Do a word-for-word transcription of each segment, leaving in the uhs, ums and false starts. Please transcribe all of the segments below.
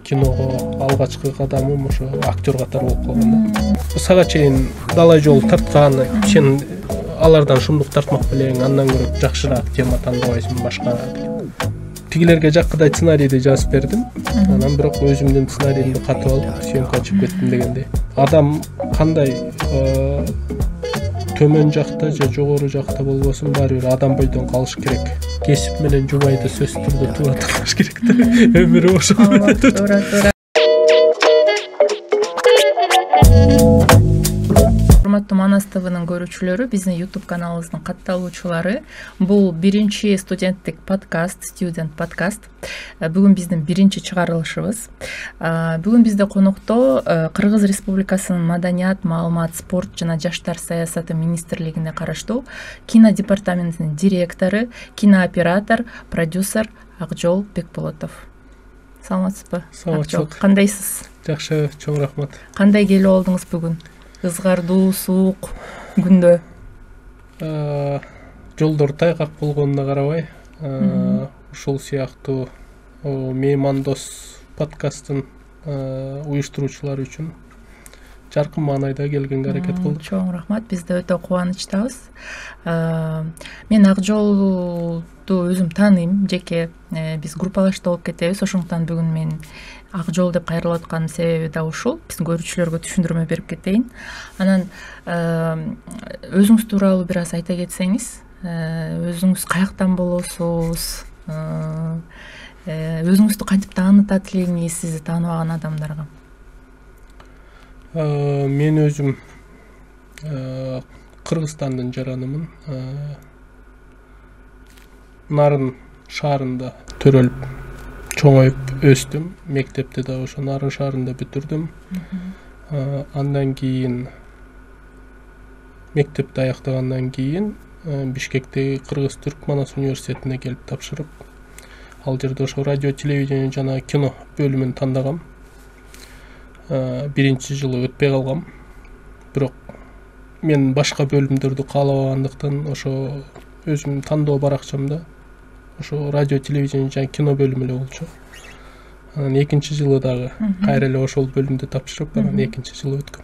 киного алгачкы кадамым ошо актер катары болуп калган да. Сага чейин далай жол тарткан, сен алардан шумдук тартмак белең, андан көрө жакшыраак тема тандабайсың башка. Тигилерге жаккыдай сценарийди жазып бердим. Анан бирок өзүмдүн сценарийимди катып алып, съемкага чыгып кеттим дегендей. Адам кандай төмөн жакта же жогору жакта болбосун, баары бир адам бойдон калыш керек. Кесип менен жубайды сөзсүз түрдө туура тапкыш керек да. Өмүрү ошол менен өтөт. Туура, туура. Урматтуу Манас ТВнын көрүүчүлөрү, биздин YouTube каналыбыздын катталуучулары. Бул биринчи студенттик подкаст, Student подкаст. Бүгүн биздин биринчи чыгарылышыбыз. Бүгүн бизде конокто Кыргыз Республикасынын Маданият, маалымат, спорт жана жаштар саясаты министрлигине караштуу кино департаментинин директору, кинооператор, продюсер Акжол Бекболотов. Саламатсызбы? Саламатчылык. Кандайсыз? Жакшы, чоң рахмат. Кандай келип алдыңыз бүгүн? Ызгардуу, суук күндө. Жолдор тайгак болгонуна карабай, ушул сыяктуу меймандос подкасттын уюштуруучулары үчүн жаркын маанайда келгенге аракет кылдык. Чоң рахмат. Биз да өтө кубанычтабыз. Мен Акжолду өзүм тааныйм, жеке биз группалашта болуп кетебиз. Ошондуктан бүгүн мен Акжол деп кайрылып атканын себеби да ушул. Биздин көрүүчүлөргө түшүндүрмө берип кетейин. Анан өзүңүз тууралуу бир аз айта кетсеңиз, өзүңүз каяктан болосуз, өзүңүздү кантип таанытат элеңиз сизди тааныбаган адамдарга? Мен өзүм Кыргызстандын жаранымын. Нарын шаарында төрөлүп, чоңоюп өстүм. Мектепти да ошо Нарын шаарында бүтүрдүм. Андан кийин мектепти аяктагандан кийин Бишкектеги Кыргыз-Түрк Манас университетине келип тапшырып, ал жерде ошо радио, телевидение жана кино бөлүмүн тандагам. Биринчи жылы өтпөй калгам. Бирок мен башка бөлүмдөрдү каалабагандыктан ошо өзүм тандоо баракчамда ошо радио, телевидение жана кино бөлүмү эле болчу. Анан экинчи жылы дагы кайра эле ошол бөлүмдү тапшырып, анан экинчи жылы өткөм.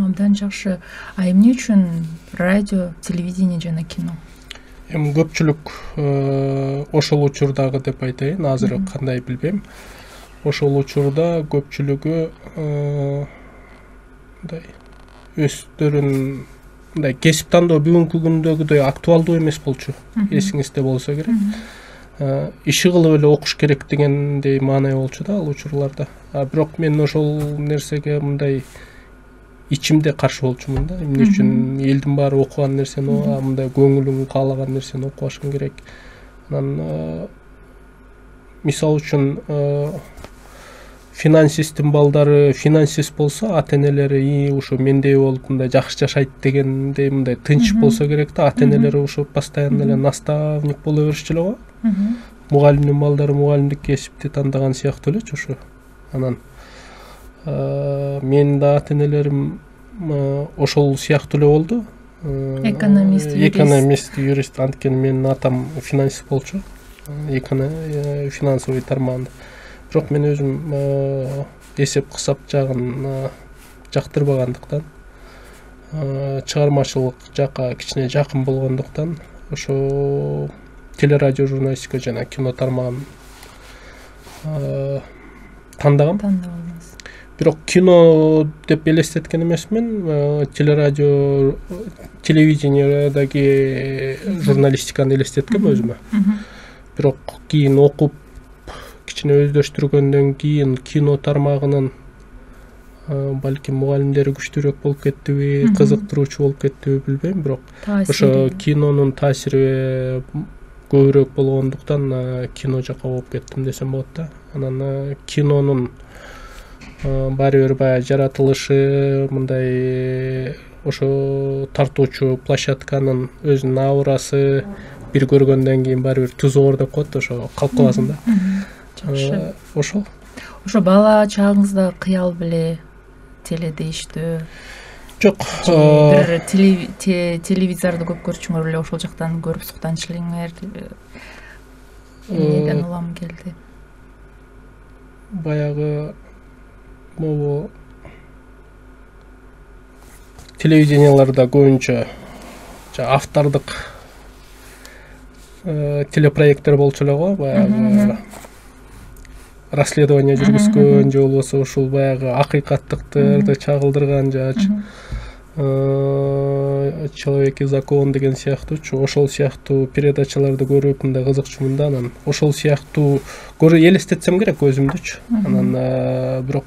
Абдан жакшы. А эмне үчүн радио, телевидение жана кино? Эми көпчүлүк ошол учурдагы деп айтайын, азыр кандай билбейм. Ошол учурда көпчүлүгү мындай өздөрүн мындай кесип тандоо бүгүнкү күндөгүдөй актуалдуу эмес болчу. Эсиңизде болсо керек. Иши кылып эле окуш керек дегендей маанай болчу да ал учурларда. А бирок мен ошол нерсеге мындай ичимде каршы болчумун да. Эмне үчүн элдин баары окуган нерсени, мындай көңүлүң каалаган нерсени окубашың керек. Анан мисалы үчүн финансисттин балдары финансист болсо, ата-энелери ушу мендей болуп мындай жакшы жашайт дегендей мындай тынч болсо керек да. Ата-энелери ушу постоянно эле наставник боло беришчү эле го. Мугалимдин балдары мугалимдик кесипти тандаган сыяктуу элечи ушу. Анан менин да ата-энелерим ошол сыяктуу эле болду. Экономист, юрист. Экономист, юрист. Анткени менин атам финансист болчу. Финансовый тармагында. Бирок мен өзүм эсеп кысап жагын жактырбагандыктан, чыгармачылык жакка кичине жакын болгондуктан ошо телерадио журналистика жана кино тармагын тандагам. Тандабыңыз. Бирок кино деп элестеткен эмесмин. Телерадио, телевидениедеги журналистиканы элестеткем өзүмө. Бирок кийин окуп кичине өздөштүргөндөн кийин кино тармагынын балким мугалимдери күчтүүрөөк болуп кеттиби, кызыктыруучу болуп кеттиби билбейм, бирок ошо кинонун таасири көбүрөөк болгондуктан кино жакка болуп кеттим десем болот да. Анан кинонун баары бир баягы жаратылышы, мындай ошо тартуучу площадканын өзүнүн аурасы бир көргөндөн кийин баары бир тузу бар деп коет, ошо калып каласың да. Жакшы. Ошол. Ошо бала чагыңызда кыял беле теледе иштөө? Жок. Бир телевизорду көп көрчүңөр беле, ошол жактан көрүп суктанчу элеңер? Эмнеден улам келди? баягы могу телевиденияларда көбүнчө автордук телепроекттер болчу эле го, баягы расследование жүргүзгөн же болбосо ушул баягы акыйкаттыктарды чагылдырган же человек и закон деген сыяктуучу ошол сыяктуу передачаларды көрүп мындай кызыкчумун да. Анан ошол сыяктуу элестетсем керек өзүмдүчү. Анан бирок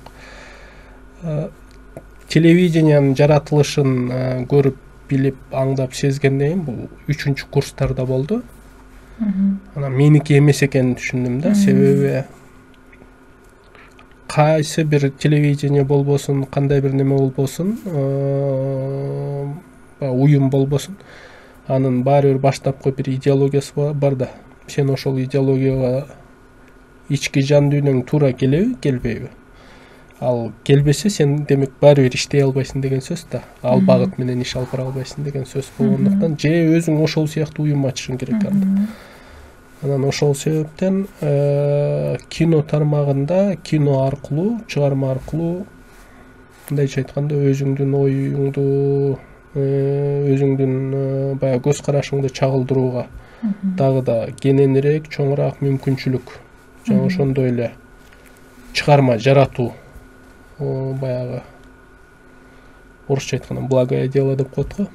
телевидениянын жаратылышын көрүп билип аңдап сезгенден кийин бул үчүнчү курстарда болду. Анан меники эмес экенин түшүндүм да. Себеби кайсы бир телевидение болбосун, кандай бир неме болбосун, уюм болбосун, анын баары бир баштапкы бир идеологиясы бар да. Сен ошол идеологияга ички жан дүйнөң туура келеби, келбейби? Ал келбесе, сен демек баары бир иштей албайсың деген сөз да. Ал багыт менен иш алып бара албайсың деген сөз болгондуктан, же өзүң ошол сыяктуу уюм ачышың керек анда. Анан ошол себептен кино тармагында, кино аркылуу, чыгарма аркылуу, мындайча айтканда, өзүңдүн оюңду, өзүңдүн баягы көз карашыңды чагылдырууга дагы да кененирээк, чоңураак мүмкүнчүлүк, жана ошондой эле чыгарма жаратуу, баягы орусча айтканда благое дело деп коет го.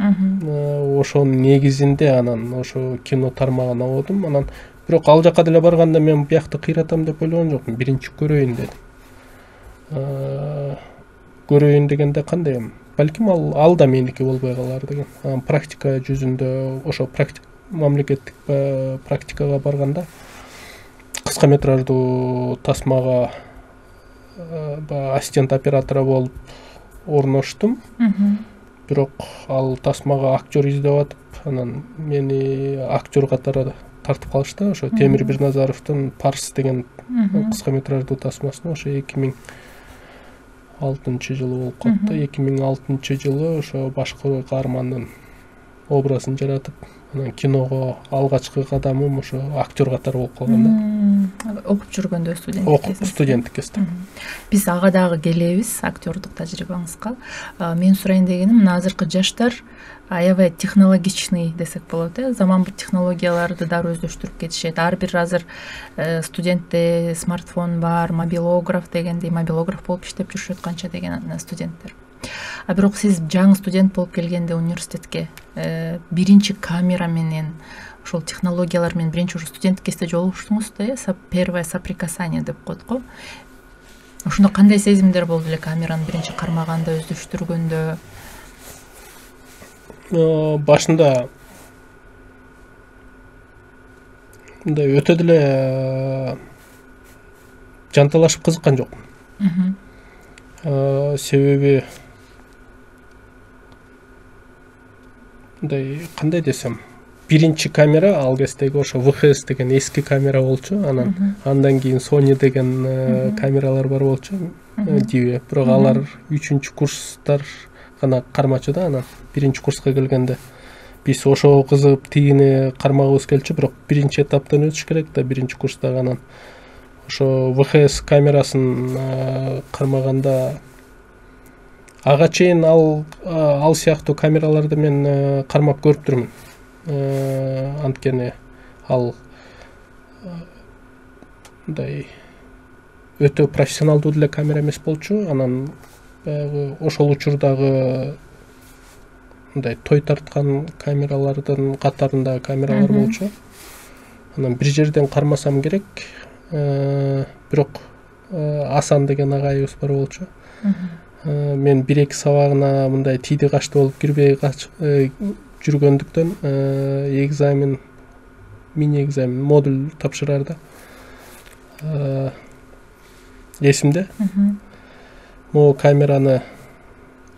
Ошонун негизинде анан ошо кино тармагына бодум. Анан бирок ал жака деле барганда мен биякты кыйратам деп ойлогон жокмун. Биринчи көрөйүн дедим. Көрөйүн дегенде кандай эми? Балким ал ал да меники болбой калар деген. Анан практика жүзүндө ошо мамлекеттик практикага барганда кыска метраждуу тасмага ассистент оператора болуп орноштум. Бирок ал тасмага актер издеп атып, анан мени актер катары тартып калышты. Ошо Темир Бирназаровдун Парс деген кыска метраждуу тасмасына ошо эки миң алтынчы жылы болуп калды. эки миң алтынчы жылы ошо башкы каармандын образын жаратып, анан киного алгачкы кадамым ошо актер катары болуп калган да. Окуп жүргөндө студент окуп студенттик кезде. Биз ага дагы келебиз, актёрдук тажрыйбаңызга. Мен сурайын дегеним, мына азыркы жаштар аябай технологичный десек болот, э, заманбы технологияларды дары өздөштүрүп кетишет. Ар бир азыр студентте смартфон бар, мобилограф дегендей, мобилограф болуп иштеп жүрүшөт канча деген студенттер. А бирок сиз жаңы студент болуп келгенде университетке биринчи камера менен ошол технологиялар менен биринчи ушу студенттик кезде жолугуштуңуз да, э, первое соприкасание деп коет го. Ошондо кандай сезимдер болду эле камераны биринчи кармаганда, өздөштүргөндө? Башында мындай өтө деле жанталашып кызыккан жокмун. Себеби мындай кандай десем, биринчи камера ал кездеги ошо вэ ха эс деген эски камера болчу. Анан андан кийин Sony деген камералар бар болчу, Dive. Бирок алар үчүнчү курстар гана кармачу да. Анан биринчи курска келгенде биз ошого кызыгып тигини кармагыбыз келчү, бирок биринчи этаптан өтүш керек да, биринчи курста. Анан ошо вэ ха эс камерасын кармаганда ага чейин ал ал сыяктуу камераларды мен кармап көрүп турмун. Анткени ал мындай өтө профессионалдуу деле камера эмес болчу. Анан баягы ошол учурдагы мындай той тарткан камералардын катарында камералар болчу. Анан бир жерден кармасам керек. Бирок Асан деген агайыбыз бар болчу. Мен бир эки сабагына мындай тийди качты болуп кирбей жүргөндүктөн экзамен, мини экзамен, модуль тапшырарда эсимде. Могу камераны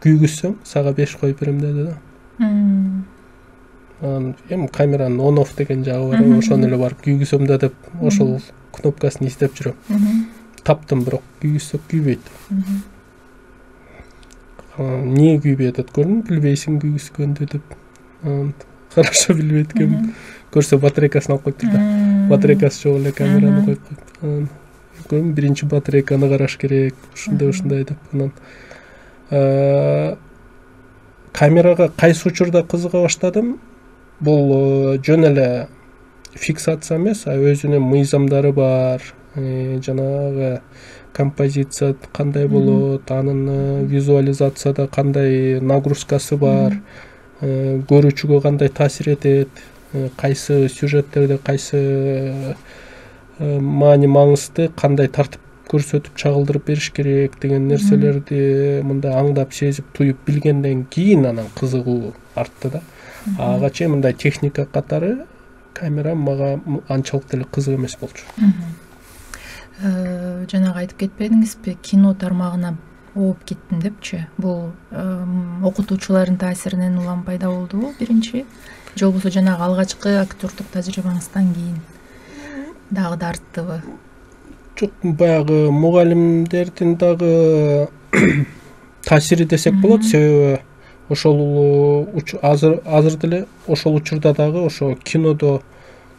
күйгүзсөң, сага беш коюп берем деди да. Анан эми камеранын on off деген жагы бар, ошону эле барып күйгүзөм да деп ошол кнопкасын издеп жүрөм. Таптым, бирок күйгүзсөк күйбөйт. Эмне күйбөй атат көрдүм, билбейсиң күйгүзгөндү деп. Хорошо билбейт экен. Көрсө батарейкасын алып коюптур да. Батарейкасы жок эле камераны коюп коюптур. көргөм биринчи батарейканы караш керек, ушундай ушундай деп. Анан камерага кайсы учурда кызыга баштадым? Бул жөн эле фиксация эмес, а өзүнүн мыйзамдары бар. Жанагы композиция кандай болот, анын визуализацияда кандай нагрузкасы бар, көрүүчүгө кандай таасир этет, кайсы сюжеттерде кайсы маани маңызды, кандай тартип көрсөтүп чагылдырып бериш керек деген нерселерди мындай аңдап сезип туюп билгенден кийин анан кызыгуу артты да. Ага чейин мындай техника катары камера мага анчалык деле кызык эмес болчу. Жанагы айтып кетпедиңизби, кино тармагына ооп кеттим депчи. Бул окутуучулардын таасиринен улам пайда болдубу биринчи? Же болбосо жанагы алгачкы актёрдук тажрыйбаңыздан кийин дагы да арттыбы? Жок, баягы мугалимдердин дагы таасири десек болот, себеби ошол азыр азыр деле ошол учурда дагы ошо кинодо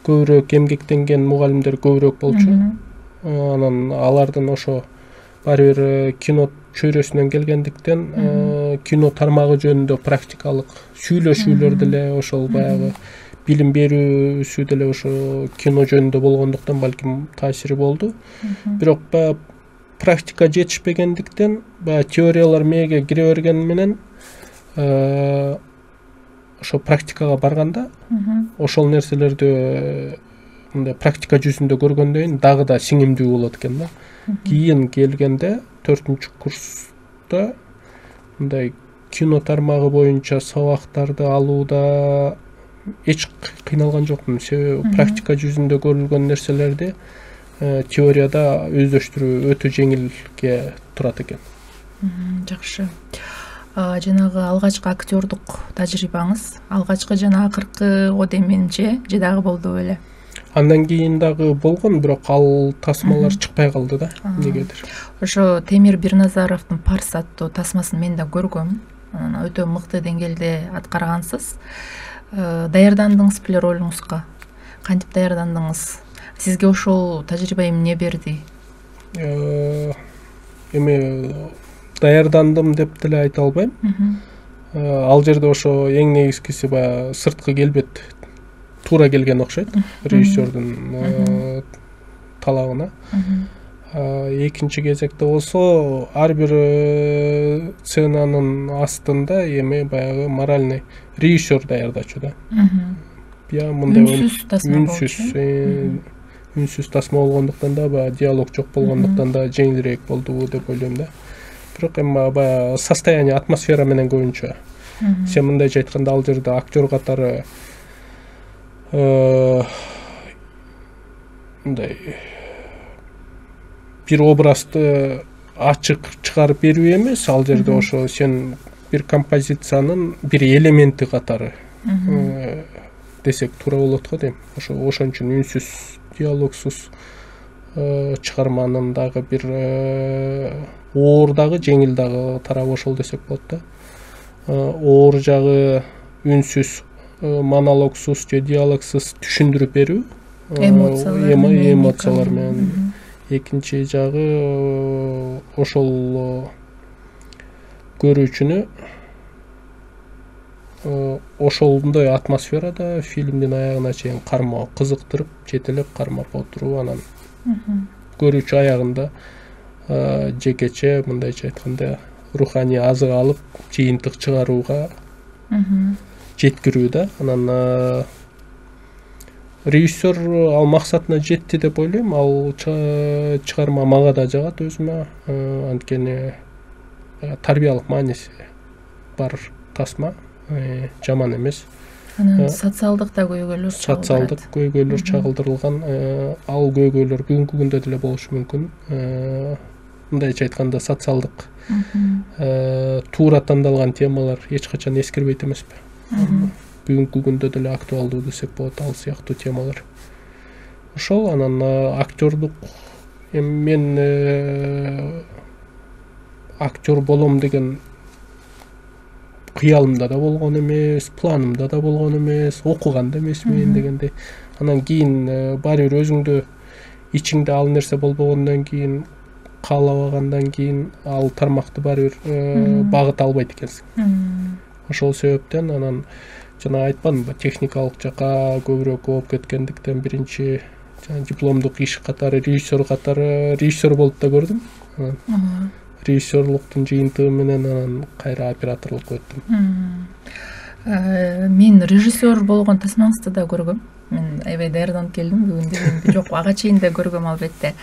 көбүрөөк эмгектенген мугалимдер көбүрөөк болчу. Анан алардын ошо баары бир кино чөйрөсүнөн келгендиктен кино тармагы жөнүндө практикалык сүйлөшүүлөр деле ошол баягы билим берүүсү деле ошо кино жөнүндө болгондуктан балким таасири болду. Бирок баягы практика жетишпегендиктен баягы теориялар мээге кире бергени менен ошо практикага барганда ошол нерселерди мындай практика жүзүндө көргөндөн кийин дагы да сиңимдүү болот экен да. Кийин келгенде төртүнчү курста мындай кино тармагы боюнча сабактарды алууда эч кыйналган жокмун, себеби практика жүзүндө көрүлгөн нерселерди теорияда өздөштүрүү өтө жеңилге турат экен. Жакшы. Жанагы алгачкы актёрдук тажрыйбаңыз, алгачкы жана акыркы о дейм менимче, же дагы болду беле? Андан кийин дагы болгон, бирок ал тасмалар чыкпай калды да, эмнегедир. Ошо Темир Бирназаровдун Парс аттуу тасмасын мен да көргөм. Анан өтө мыкты деңгээлде аткаргансыз. Даярдандыңыз беле ролуңузга? Кантип даярдандыңыз? Сизге ошол тажрыйба эмне берди? Эми даярдандым деп деле айта албайм. Ал жерде ошо эң негизгиси баягы сырткы келбет туура келген окшойт режиссердун талабына. Экинчи кезекте болсо ар бир сценанын астында эми баягы моральный режиссер даярдачу да. Я мындай үнсүз тасма болчу. Үнсүз тасма болгондуктан да, баягы диалог жок болгондуктан да жеңилирээк болдубу деп ойлойм да. Бирок эми баягы состояние, атмосфера менен көбүнчө. Сен мындайча айтканда ал жерде актер катары мындай бир образды ачык чыгарып берүү эмес, ал жерде ошо сен бир композициянын бир элементи катары десек туура болот го дейм. Ошо ошон үчүн үнсүз, диалогсуз чыгарманын дагы бир оор дагы жеңил дагы тарабы ошол десек болот да. Оор жагы үнсүз, монологсуз же диалогсуз түшүндүрүп берүү, эмоциялар менен. Экинчи жагы ошол көрүүчүнү ошондой атмосферада фильмдин аягына чейин кармоо, кызыктырып, жетелеп кармап отуруу, анан көрүүчү аягында жекече мындайча айтканда руханий азык алып, жыйынтык чыгарууга жеткирүү да. Анан режиссер ал максатына жетти деп ойлойм. Ал чыгарма мага да жагат өзүмө, анткени тарбиялык мааниси бар тасма, жаман эмес. Анан социалдык да көйгөйлөр чагылдырат. Социалдык көйгөйлөр чагылдырылган. Ал көйгөйлөр бүгүнкү күндө деле болушу мүмкүн. Мындайча айтканда социалдык туура тандалган темалар эч качан эскирбейт эмеспи? Бүгүнкү күндө деле актуалдуу десек болот ал сыяктуу темалар. Ошол. Анан актёрдук эми мен актер болом деген кыялымда да болгон эмес, планымда да болгон эмес, окуган да эмесмин дегендей. Анан кийин баары бир өзүңдү ичиңде ал нерсе болбогондон кийин, каалабагандан кийин ал тармакты баары бир багыта албайт экенсиң. Ошол себептен анан жана айтпадымбы, техникалык жака көбүрөөк ооп кеткендиктен биринчи жана дипломдук иш катары режиссер катары режиссер болуп да көрдүм. Режиссерлуктун жыйынтыгы менен анан кайра операторлукка өттүм. Мен режиссер болгон тасмаңызды да көргөм. Мен аябай даярданып келдим бүгүн дегенде. Жок, ага чейин да көргөм албетте.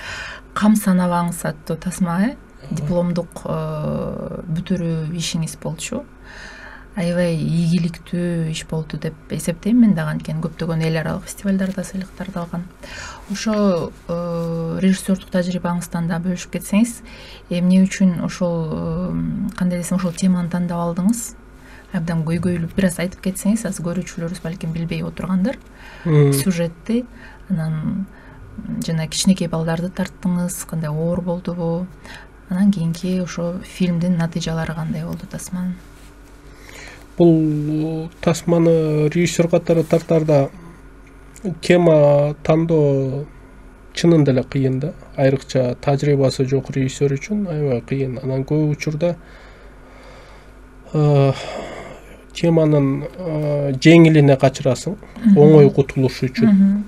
Кам санабаңыз аттуу тасма, дипломдук бүтүрүү ишиңиз болчу. Аябай ийгиликтүү иш болду деп эсептейм мен дагы, анткени көптөгөн эл аралык фестивалдарда сыйлыктарды алган. Ошо режиссердук тажрыйбаңыздан да бөлүшүп кетсеңиз, эмне үчүн ошол кандай десем ошол теманы тандап алдыңыз? Абдан көйгөйлүп бир аз айтып кетсеңиз, аз көрүүчүлөрүбүз балким билбей отургандыр сюжетти. Анан жана кичинекей балдарды тарттыңыз, кандай оор болдубу? Анан кийинки ошо фильмдин натыйжалары кандай болду тасманын? Бул тасманы режиссер катары тартарда тема тандоо чынында эле кыйын да. Айрыкча тажрыйбасы жок режиссер үчүн аябай кыйын. Анан көп учурда теманын жеңилине качырасың, оңой кутулуш үчүн.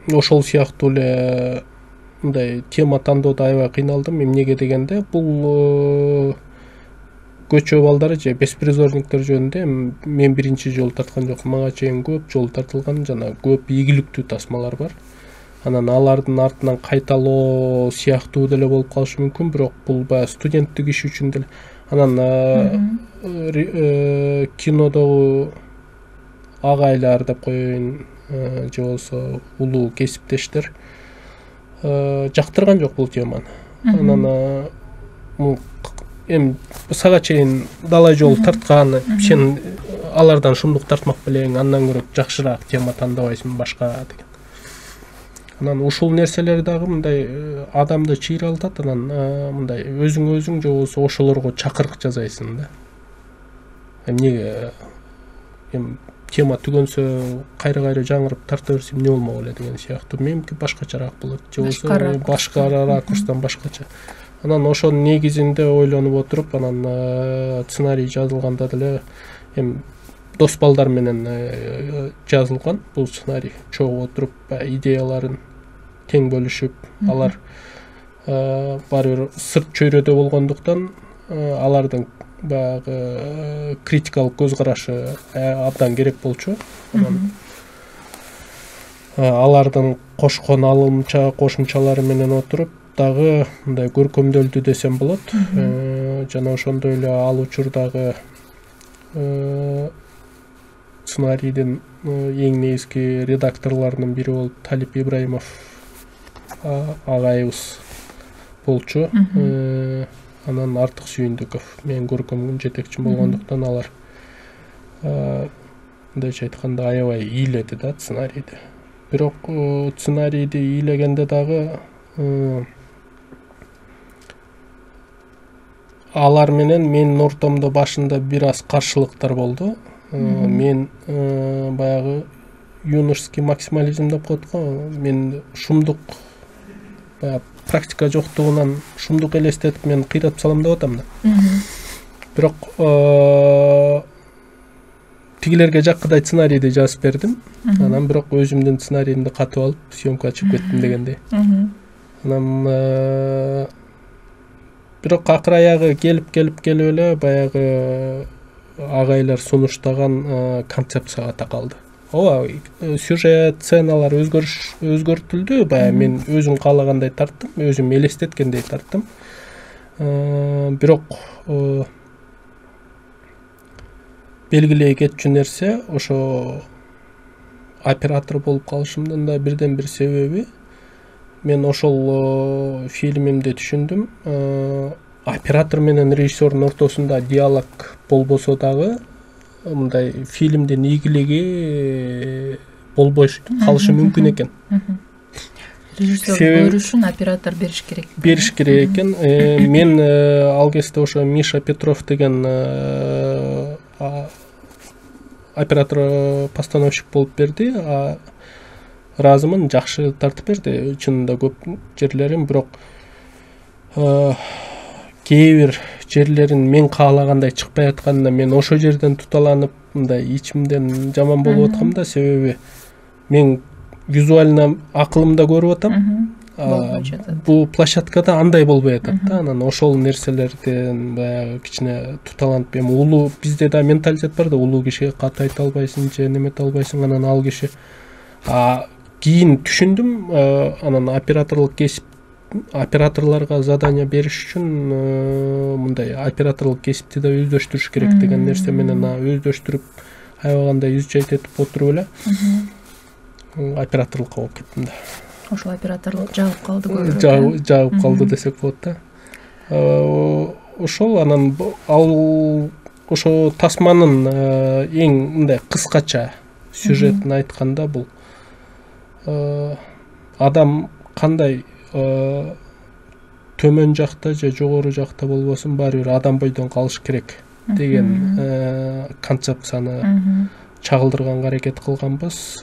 Ошол сыяктуу эле мындай тема тандоодо аябай кыйналдым. Эмнеге дегенде, бул көчө балдары же беспризорниктер жөнүндө мен биринчи жолу тарткан жокмун. Мага чейин көп жолу тартылган жана көп ийгиликтүү тасмалар бар. Анан алардын артынан кайталоо сыяктуу деле болуп калышы мүмкүн, бирок бул баягы студенттик иш үчүн деле. Анан кинодогу агайлар деп коеюн, же болбосо улуу кесиптештер жактырган жок бул теманы. Анан эми сага чейин далай жолу тарткан, сен алардан шумдук тартмак белең, андан көрө жакшыраак тема тандабайсың башка деген. Анан ушул нерселер дагы мындай адамды чыйралтат. Анан мындай өзүң өзүң же болбосо ошолорго чакырык жасайсың да. Эмнеге эми тема түгөнсө кайра-кайра жаңырып тарта берсем эмне болмок эле деген сыяктуу. Меники башкачараак болот, же болбосо башка ракурстан башкача. Анан ошонун негизинде ойлонуп отуруп, анан сценарий жазылганда деле эми дос балдар менен жазылган бул сценарий. Чогуу отуруп идеяларын тең бөлүшүп, алар баары бир сырт чөйрөдө болгондуктан алардын баягы критикалык көз карашы абдан керек болчу. Анан алардын кошкон алымча кошумчалары менен отуруп дагы мындай көркөмдөлдү десем болот. Жана ошондой эле ал учурдагы сценарийдин эң негизги редакторлорунун бири болуп Талип Ибраимов агайыбыз болчу. Анан Артык Сүйүндүков менин көркөм жетекчим болгондуктан алар мындайча айтканда аябай ыйледи да сценарийди. Бирок сценарийди ыйлегенде дагы алар менен менин ортомдо башында бир аз каршылыктар болду. Мен баягы юношеский максимализм деп коет го. Мен шумдук баягы практика жоктугунан шумдук элестетип мен кыйратып салам деп атам да. Бирок тигилерге жаккыдай сценарийди жазып бердим. Анан бирок өзүмдүн сценарийимди катып алып съемкага чыгып кеттим дегендей. Анан бирок акыр аягы келип келип келип эле баягы агайлар сунуштаган концепцияга такалды. Ооба, сюжет, сценалар өзгөрүш өзгөртүлдү. Баягы мен өзүм каалагандай тарттым, өзүм элестеткендей тарттым. Бирок белгилей кетчү нерсе ошо оператор болуп калышымдын да бирден бир себеби, мен ошол фильмимде түшүндүм, оператор менен режиссердун ортосунда диалог болбосо дагы мындай фильмдин ийгилиги болбой калышы мүмкүн экен. Режиссер көрүшүн оператор бериш керек. Бериш керек экен. Мен ал кезде ошо Миша Петров деген оператор постановщик болуп берди. ыраазымын, жакшы тартып берди чынында көп жерлерин, бирок кээ бир жерлерин мен каалагандай чыкпай атканына мен ошол жерден туталанып мындай ичимден жаман болуп аткам да, себеби мен визуально акылымда көрүп атам, бул площадкада андай болбой атат да. Анан ошол нерселерден баягы кичине туталанып, эми улуу бизде да менталитет бар да, улуу кишиге кат айта албайсың же немете албайсың, анан ал киши кийин түшүндүм, анан операторлук кесип операторлорго задание бериш үчүн мындай операторлук кесипти да өздөштүрүш керек деген нерсе менен өздөштүрүп аябагандай үз чайт этип отуруп эле операторлукка болуп кеттим да. Ошол операторлук жагып калды көп. Жагып калды десек болот да. Ошол анан ал ошо тасманын эң мындай кыскача сюжетин айтканда, бул адам кандай төмөн жакта же жогору жакта болбосун, баары бир адам бойдон калыш керек деген концепцияны чагылдырганга аракет кылганбыз.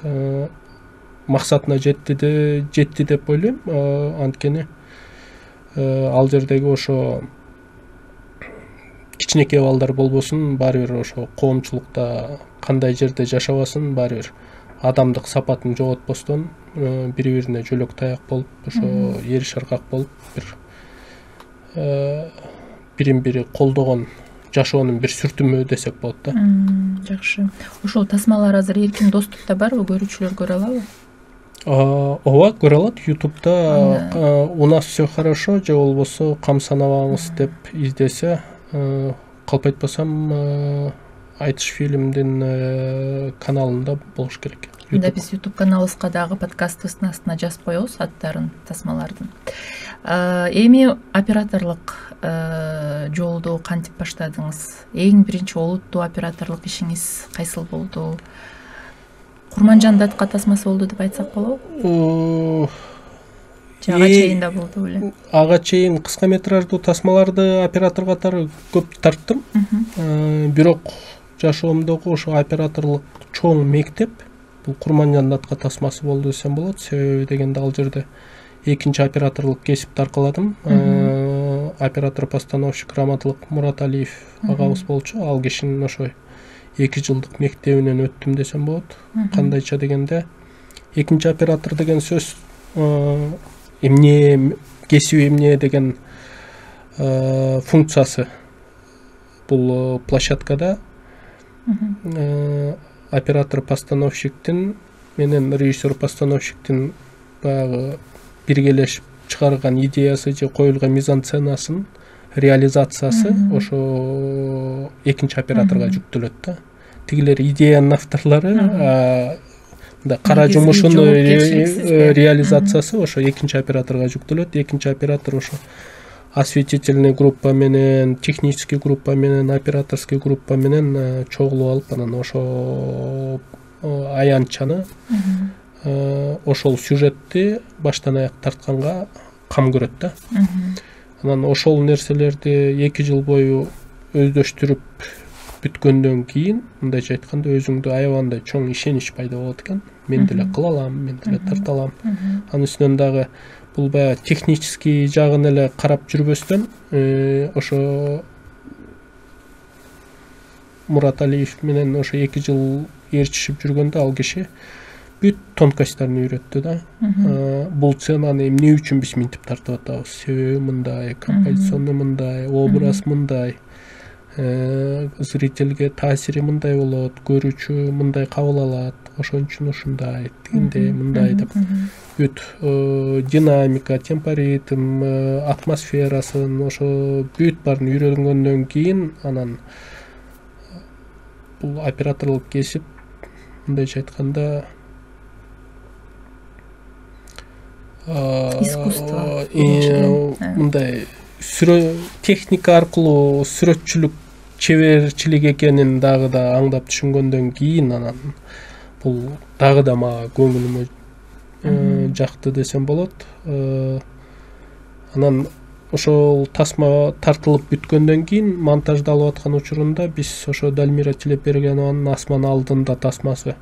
Максатына жетти жетти деп ойлойм. Анткени ал жердеги ошо кичинекей балдар болбосун, баары бир ошо коомчулукта кандай жерде жашабасын, баары бир адамдык сапатын жоготпостон бири бирине жөлөк таяк болуп, ошо эр шаркак болуп, бир бирин бири колдогон жашоонун бир сүртүмү десек болот да. Жакшы. Ошол тасмалар азыр эркин доступта барбы, көрүүчүлөр көрө алабы? Ооба, көрө алат. ютубта у нас все хорошо же болбосо кам санабаңыз деп издесе, калп айтпасам айтыш фильмдин каналында болуш керек. Мында биз YouTube каналыбызга дагы подкастыбыздын астына жазып коебуз аттарын, тасмалардын. Эми операторлук жолду кантип баштадыңыз? Эң биринчи олуттуу операторлук ишиңиз кайсыл болду? Курманжан датка тасмасы болду деп айтсак болобу? Же ага чейин да болду беле? Ага чейин кыска метраждуу тасмаларды оператор катары көп тарттым. Бирок жашоомдогу ошо операторлук чоң мектеп бул Курманжан датка тасмасы болду десем болот. Себеби дегенде ал жерде экинчи операторлук кесипти таркаладым. Оператор-постановщик Раматлык Мураталиев агабыз болчу. Ал кишинин ошо эки жылдык мектебинен өттүм десем болот. Кандайча дегенде экинчи оператор деген сөз эмне, кесип эмне деген функциясы бул площадкада оператор-постановщиктин менен режиссер-постановщиктин баягы биргелешип чыгарган идеясы же коюлган мизансценасын реализациясы ошо экинчи операторго жүктөлөт да. Тигилер идеянын авторлору, мындай кара жумушунун реализациясы ошо экинчи операторго жүктөлөт. Экинчи оператор ошо осветительный группа менен, технический группа менен, операторский группа менен чогулуп алып, анан ошо аянтчаны, ошол сюжетти баштан аяк тартканга кам көрөт да. Анан ошол нерселерди эки жыл бою өздөштүрүп бүткөндөн кийин, мындайча айтканда, өзүңдө аябагандай чоң ишенич пайда болот экен. Мен деле кыла алам, мен деле тарта алам. Анын үстүнөн дагы бул баягы технический жагын эле карап жүрбөстөн, ошо Мураталиев менен ошо эки жыл ээрчишип жүргөндө ал киши бүт тонкостьтарын үйрөттү да. Бул сценаны эмне үчүн биз минтип тартып атабыз? Себеби мындай, композиционный мындай, образ мындай, зрительге таасири мындай болот, көрүүчү мындай кабыл алат, ошон үчүн ушундай, тигиндей, мындай деп бүт динамика, темпоритм, атмосферасын, ошо бүт баарын үйрөнгөндөн кийин анан бул операторлук кесип, мындайча айтканда, искусство, мындай техника аркылуу сүрөтчүлүк чеберчилик экенин дагы да аңдап түшүнгөндөн кийин анан бул дагы да мага көңүлүмө жакты десем болот. Анан ошол тасма тартылып бүткөндөн кийин монтаждалып аткан учурунда биз ошо Дальмира Тилепбергенованын Асман алдында тасмасы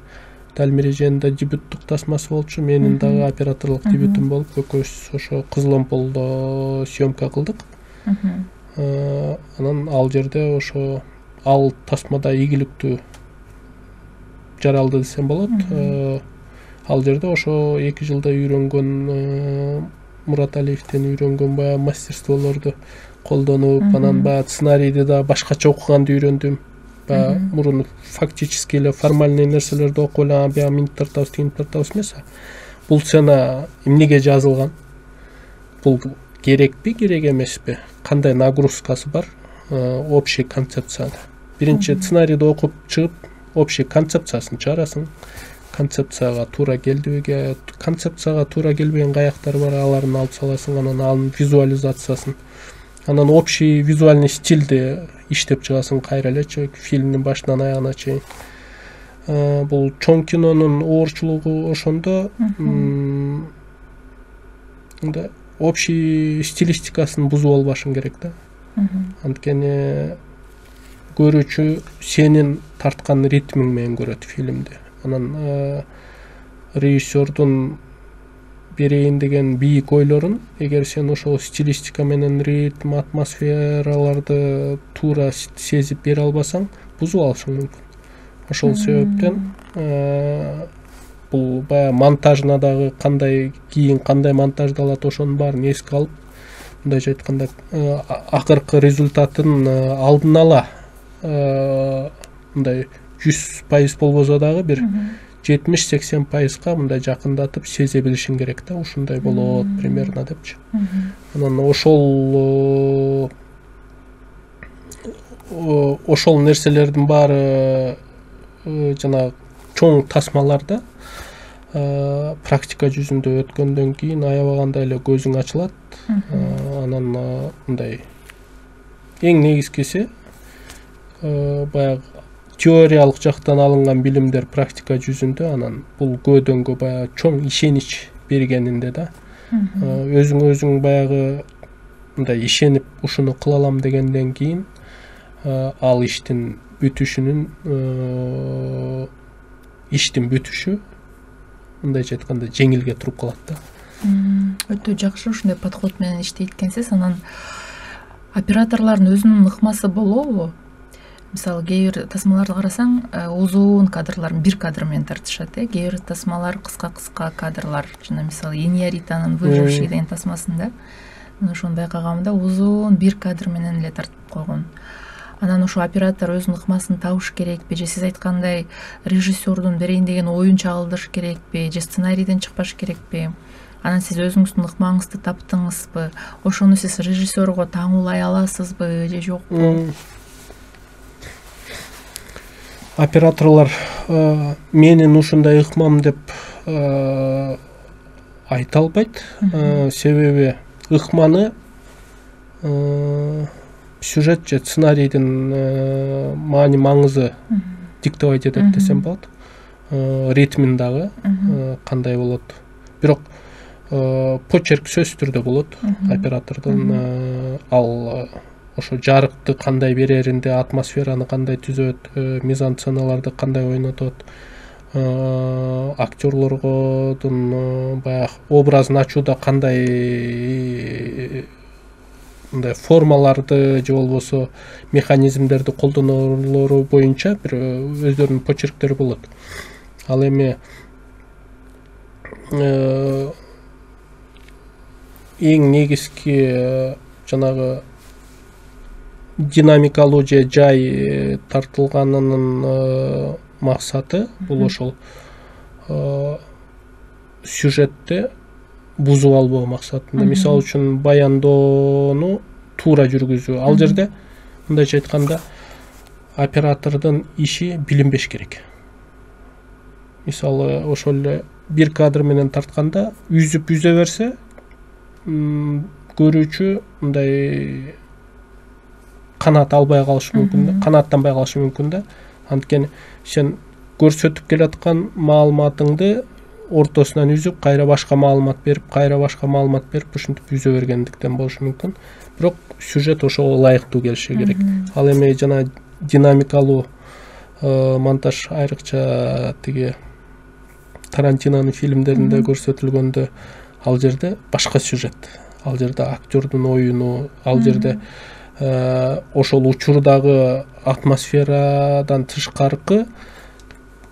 Далмиреженин дебюттук тасмасы болчу, менин дагы операторлук дебютум болуп, экөөбүз ошо Кызыл Омполдо съемка кылдык. Анан ал жерде ошо ал тасмада ийгиликтүү жаралды десем болот. Ал жерде ошо эки жылда үйрөнгөн, Мураталиевден үйрөнгөн баягы мастерстволорду колдонуп, анан баягы сценарийди да башкача окуганды үйрөндүм. Баягы мурун фактически эле формальный нерселерди окуп эле баягы минтип тартабыз, тигинтип тартабыз эмес. Бул сцена эмнеге жазылган? Бул керекпи, керек эмеспи? Кандай нагрузкасы бар? Общий концепцияда. Биринчи сценарийди окуп чыгып, общий концепциясын чыгарасың. Концепцияга туура келдиби, концепцияга туура келбеген каяктар бар, аларын алып саласың, анан анын визуализациясын. Анан общий визуальный стилди иштеп чыгасың кайра элечи, фильмдин башынан аягына чейин. Бул чоң кинонун оорчулугу ошондо мындай общий стилистикасын бузуп албашың керек да. Анткени көрүүчү сенин тарткан ритмиң менен көрөт фильмди. Анан режиссердун берейин деген бийик ойлорун эгер сен ошол стилистика менен ритм, атмосфераларды туура сезип бере албасаң, бузуп алышың мүмкүн. Ошол себептен бул баягы монтажына дагы кандай кийин кандай монтаждалат, ошонун баарын эске алып, мындайча айтканда акыркы результатын алдын ала мындай жүз пайыз болбосо дагы бир жетимиш сексен пайызга мындай жакындатып сезе билишиң керек да, ушундай болот примерно депчи. Анан ошол ошол нерселердин баары жана чоң тасмаларда практика жүзүндө өткөндөн кийин аябаганда эле көзүң ачылат. Анан мындай эң негизгиси баягы теориялык жактан алынган билимдер практика жүзүндө, анан бул көөдөнгө баягы чоң ишенич бергенинде да. Өзүң өзүң баягы мындай ишенип ушуну кыла алам дегенден кийин ал иштин бүтүшүнүн иштин бүтүшү мындайча айтканда жеңилге туруп калат да. Өтө жакшы ушундай подход менен иштейт экенсиз. Анан операторлордун өзүнүн ыкмасы болобу? Мисалы, кээ бир тасмаларды карасаң, узун кадрларын бир кадр менен тартышат, э, кээ бир тасмалар кыска-кыска кадрлар. Жана мисалы, Иньяританын Выживший деген тасмасында мен ошону байкаганымда узун бир кадр менен эле тартып койгон. Анан ошо оператор өзүнүн ыкмасын табыш керекпи, же сиз айткандай режиссердун берейин деген оюн чагылдырыш керекпи, же сценарийден чыкпаш керекпи? Анан сиз өзүңүздүн ыкмаңызды таптыңызбы? Ошону сиз режиссерго таңуулай аласызбы же жокпу? Операторлор менин ушундай ыкмам деп айта албайт. Себеби ыкманы сюжет же сценарийдин маани маңызы диктовать этет десем болот. Ритмин дагы кандай болот. Бирок почерк сөзсүз түрдө болот оператордун. Ал ошо жарыкты кандай береринде, атмосфераны кандай түзөт, мизансценаларды кандай ойнотот, актерлордун баягы образын ачууда кандай мындай формаларды же болбосо механизмдерди колдонулору боюнча бир өздөрүнүн почерктери болот. Ал эми эң негизги жанагы динамикалуу же жай тартылганынын максаты бул ошол сюжетти бузуп албоо максатында. Мисалы үчүн баяндоону туура жүргүзүү. Ал жерде мындайча айтканда оператордун иши билинбеш керек. Мисалы ошол эле бир кадр менен тартканда үзүп үзө берсе, көрүүчү мындай канаат албай калышы мүмкүн, канааттанбай калышы мүмкүн да. Анткени сен көрсөтүп келаткан маалыматыңды ортосунан үзүп, кайра башка маалымат берип, кайра башка маалымат берип, ушинтип үзө бергендиктен болушу мүмкүн. Бирок сюжет ошого ылайыктуу келиши керек. Ал эми жана динамикалуу монтаж айрыкча тиги Тарантинонун фильмдеринде көрсөтүлгөндө ал жерде башка сюжет, ал жерде актердун оюну, ал жерде ошол учурдагы атмосферадан тышкаркы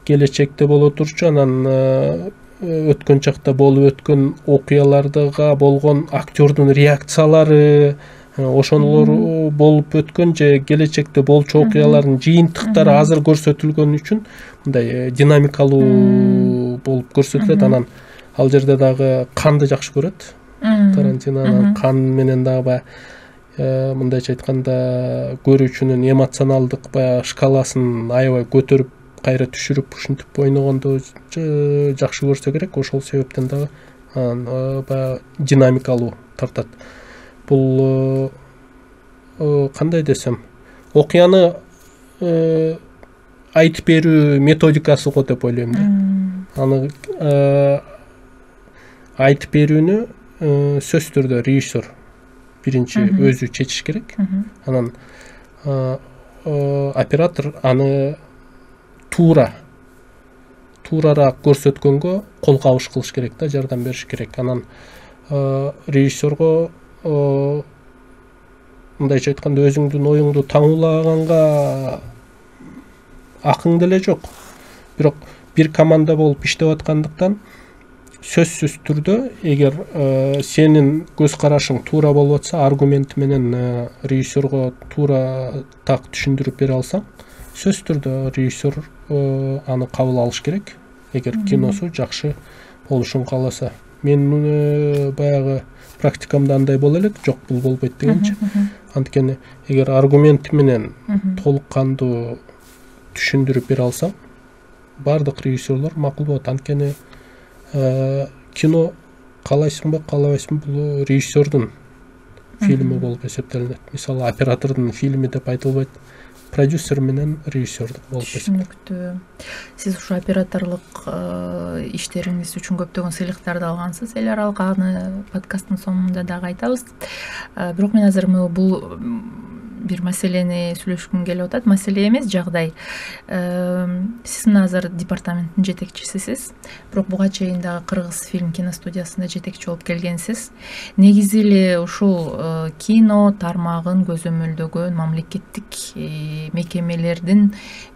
келечекте боло турчу анан өткөн чакта болуп өткөн окуяларга болгон актердун реакциялары, ошолор болуп өткөн же келечекте болчу окуялардын жыйынтыктары азыр көрсөтүлгөн үчүн мындай динамикалуу болуп көрсөтүлөт. Анан ал жерде дагы канды жакшы көрөт Тарантино, анан кан менен дагы баягы мындайча айтканда көрүүчүнүн эмоционалдык баягы шкаласын аябай көтөрүп кайра түшүрүп ушинтип ойногондо жакшы көрсө керек. Ошол себептен дагы баягы динамикалуу тартат. Бул кандай десем, окуяны айтып берүү методикасы го деп ойлойм да. Аны айтып берүүнү сөзсүз түрдө режиссер биринчи өзү чечиш керек. Анан оператор аны туура туурараак көрсөткөнгө кол кабыш кылыш керек да, жардам бериш керек. Анан режиссерго мындайча айтканда өзүңдүн оюңду таңуулаганга акың деле жок. Бирок бир команда болуп иштеп аткандыктан сөзсүз түрдө эгер сенин көз карашың туура болуп атса, аргумент менен режиссерго туура так түшүндүрүп бере алсаң, сөзсүз түрдө режиссер аны кабыл алыш керек, эгер киносу жакшы болушун кааласа. Мен баягы практикамда андай боло элек, жок бул болбойт дегенчи. Анткени эгер аргумент менен толук кандуу түшүндүрүп бере алсам, бардык режиссерлор макул болот. Анткени кино каалайсыңбы, каалабайсыңбы, бул режиссердун фильми болуп эсептелинет. Мисалы, оператордун фильми деп айтылбайт, продюсер менен режиссер болуп эсептелинет. Түшүнүктүү. Сиз ушу операторлук иштериңиз үчүн көптөгөн сыйлыктарды алгансыз. Эл аралык аны подкасттын соңунда дагы айтабыз. Бирок мен азыр бул бир маселени сүйлөшкүм келип атат. Маселе эмес, жагдай. Сиз мына азыр департаменттин жетекчисисиз. Бирок буга чейин дагы Кыргыз фильм киностудиясында жетекчи болуп келгенсиз. Негизи эле ушул кино тармагын көзөмөлдөгөн мамлекеттик мекемелердин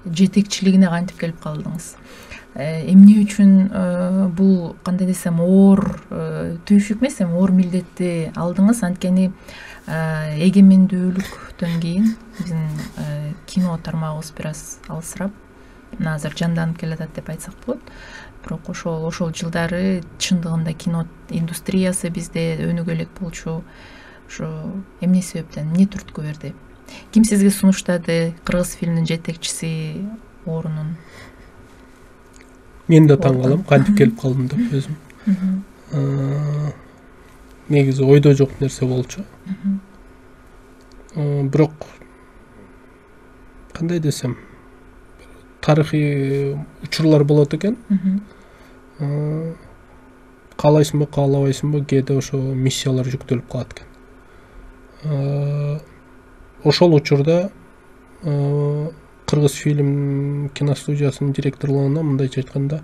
жетекчилигине кантип келип калдыңыз? Эмне үчүн бул, кандай десем, оор түйшүк эмес, эми оор милдетти алдыңыз? Анткени эгемендүүлүктөн кийин биздин кино тармагыбыз бир аз алысырап, мына азыр жанданып келатат деп айтсак болот. Бирок ошол ошол жылдары чындыгында кино индустриясы бизде өнүгө элек болчу. Ошо эмне себептен, эмне түрткү берди? Ким сизге сунуштады Кыргыз фильмдин жетекчиси орунун? Мен да таң калам, кантип келип калдым деп өзүм. Негизи ойдо жок нерсе болчу. Бирок кандай десем, тарыхый учурлар болот экен. Каалайсыңбы, каалабайсыңбы, кээде ошо миссиялар жүктөлүп калат экен. Ошол учурда Кыргыз фильм киностудиясынын директорлугуна мындайча айтканда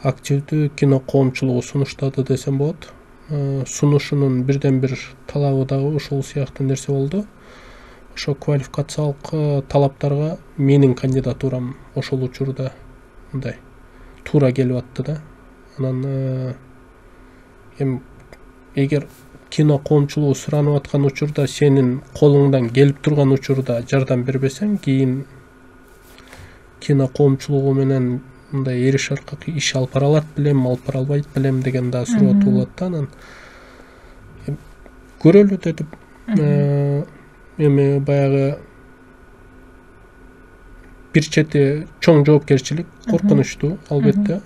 активдүү кино коомчулугу сунуштады десем болот. Сунушунун бирден бир талабы дагы ошол сыяктуу нерсе болду. Ошо квалификациялык талаптарга менин кандидатурам ошол учурда мындай туура келип атты да. Анан эми эгер кино коомчулугу суранып аткан учурда, сенин колуңдан келип турган учурда жардам бербесең, кийин кино коомчулугу менен мындай эриш аркы иш алып бара алат белем, алып бара албайт белем деген да суроо туулат да. Анан көрөлү дедим. Эми баягы бир чети чоң жоопкерчилик, коркунучтуу албетте.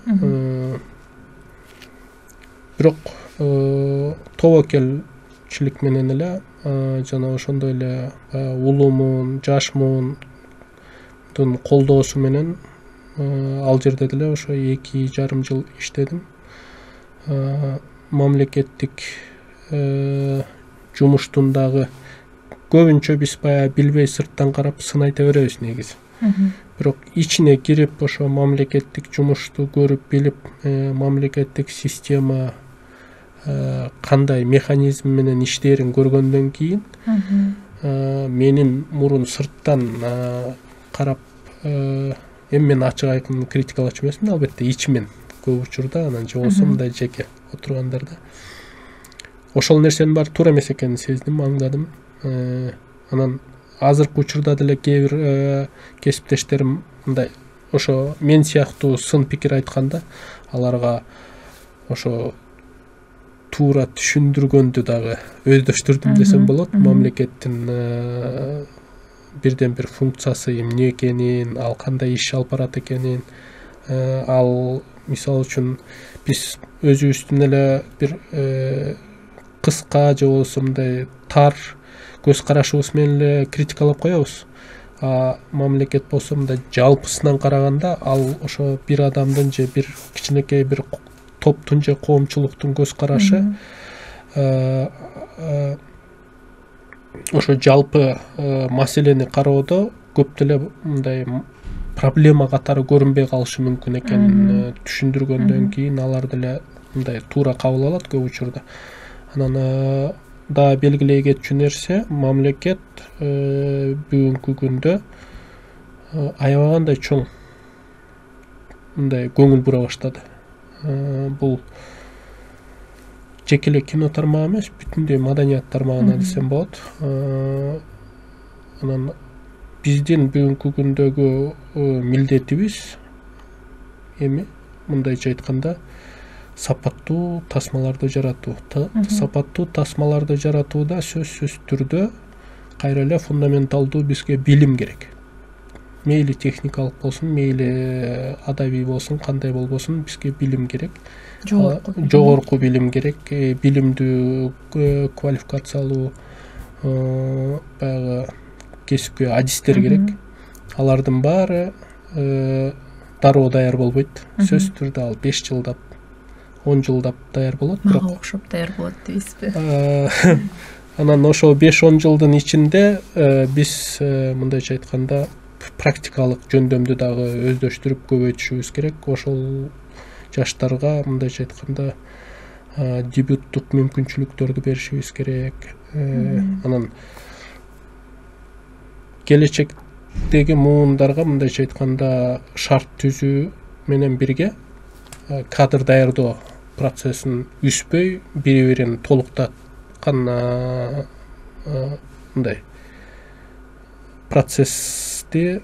Бирок тобокелчилик менен эле жана ошондой эле улумун, жашмун колдоосу менен ал жерде деле ошо эки жарым жыл иштедим. Мамлекеттик жумуштун дагы көбүнчө биз баягы билбей сырттан карап сын айта беребиз негизи. бирок ичине кирип ошо мамлекеттик жумушту көрүп билип, мамлекеттик система кандай механизм менен иштээрин көргөндөн кийин менин мурун сырттан карап, эми мен ачык айкын критикалачу эмесмин, албетте ичимен көп учурда, анан же болбосо мындай жеке отургандарда ошол нерсенин баары туура эмес экенин сездим, аңдадым. Анан азыркы учурда деле кээ бир кесиптештерим мындай ошо мен сыяктуу сын пикир айтканда, аларга ошо туура түшүндүргөндү дагы өздөштүрдүм десем болот. Мамлекеттин бирден бир функциясы эмне экенин, ал кандай иш алып барат экенин, ал мисалы үчүн биз өзүбүздүн эле бир кыска же болбосо мындай тар көз карашыбыз менен эле критикалап коебуз. А мамлекет болсо мындай жалпысынан караганда ал ошо бир адамдын же бир кичинекей бир топтун же коомчулуктун көз карашы ошо жалпы маселени кароодо көп деле мындай проблема катары көрүнбөй калышы мүмкүн экенин түшүндүргөндөн кийин алар деле мындай туура кабыл алат көп учурда. Анан да белгилей кетчү нерсе, мамлекет бүгүнкү күндө аябагандай чоң мындай көңүл бура баштады. Бул жеке эле кино тармагы эмес, бүтүндөй маданият тармагына десем болот. Анан биздин бүгүнкү күндөгү милдетибиз эми мындайча айтканда сапаттуу тасмаларды жаратуу. Сапаттуу тасмаларды жаратууда сөзсүз түрдө кайра эле фундаменталдуу бизге билим керек. Мейли техникалык болсун, мейли адабий болсун, кандай болбосун, бизге билим керек. Жогорку билим керек. Билимдүү квалификациялуу баягы кесипкөй адистер керек. Алардын баары дароо даяр болбойт. Сөзсүз түрдө ал беш жылдап, он жылдап даяр болот. Мага окшоп даяр болот дейсизби? Анан ошол беш он жылдын ичинде биз мындайча айтканда практикалык жөндөмдү дагы өздөштүрүп көбөйтүшүбүз керек. Ошол жаштарга мындайча айтканда дебюттук мүмкүнчүлүктөрдү беришибиз керек. Анан келечектеги муундарга мындайча айтканда шарт түзүү менен бирге кадр даярдоо процессин үзбөй, бири-бирин толуктаткан мындай процессти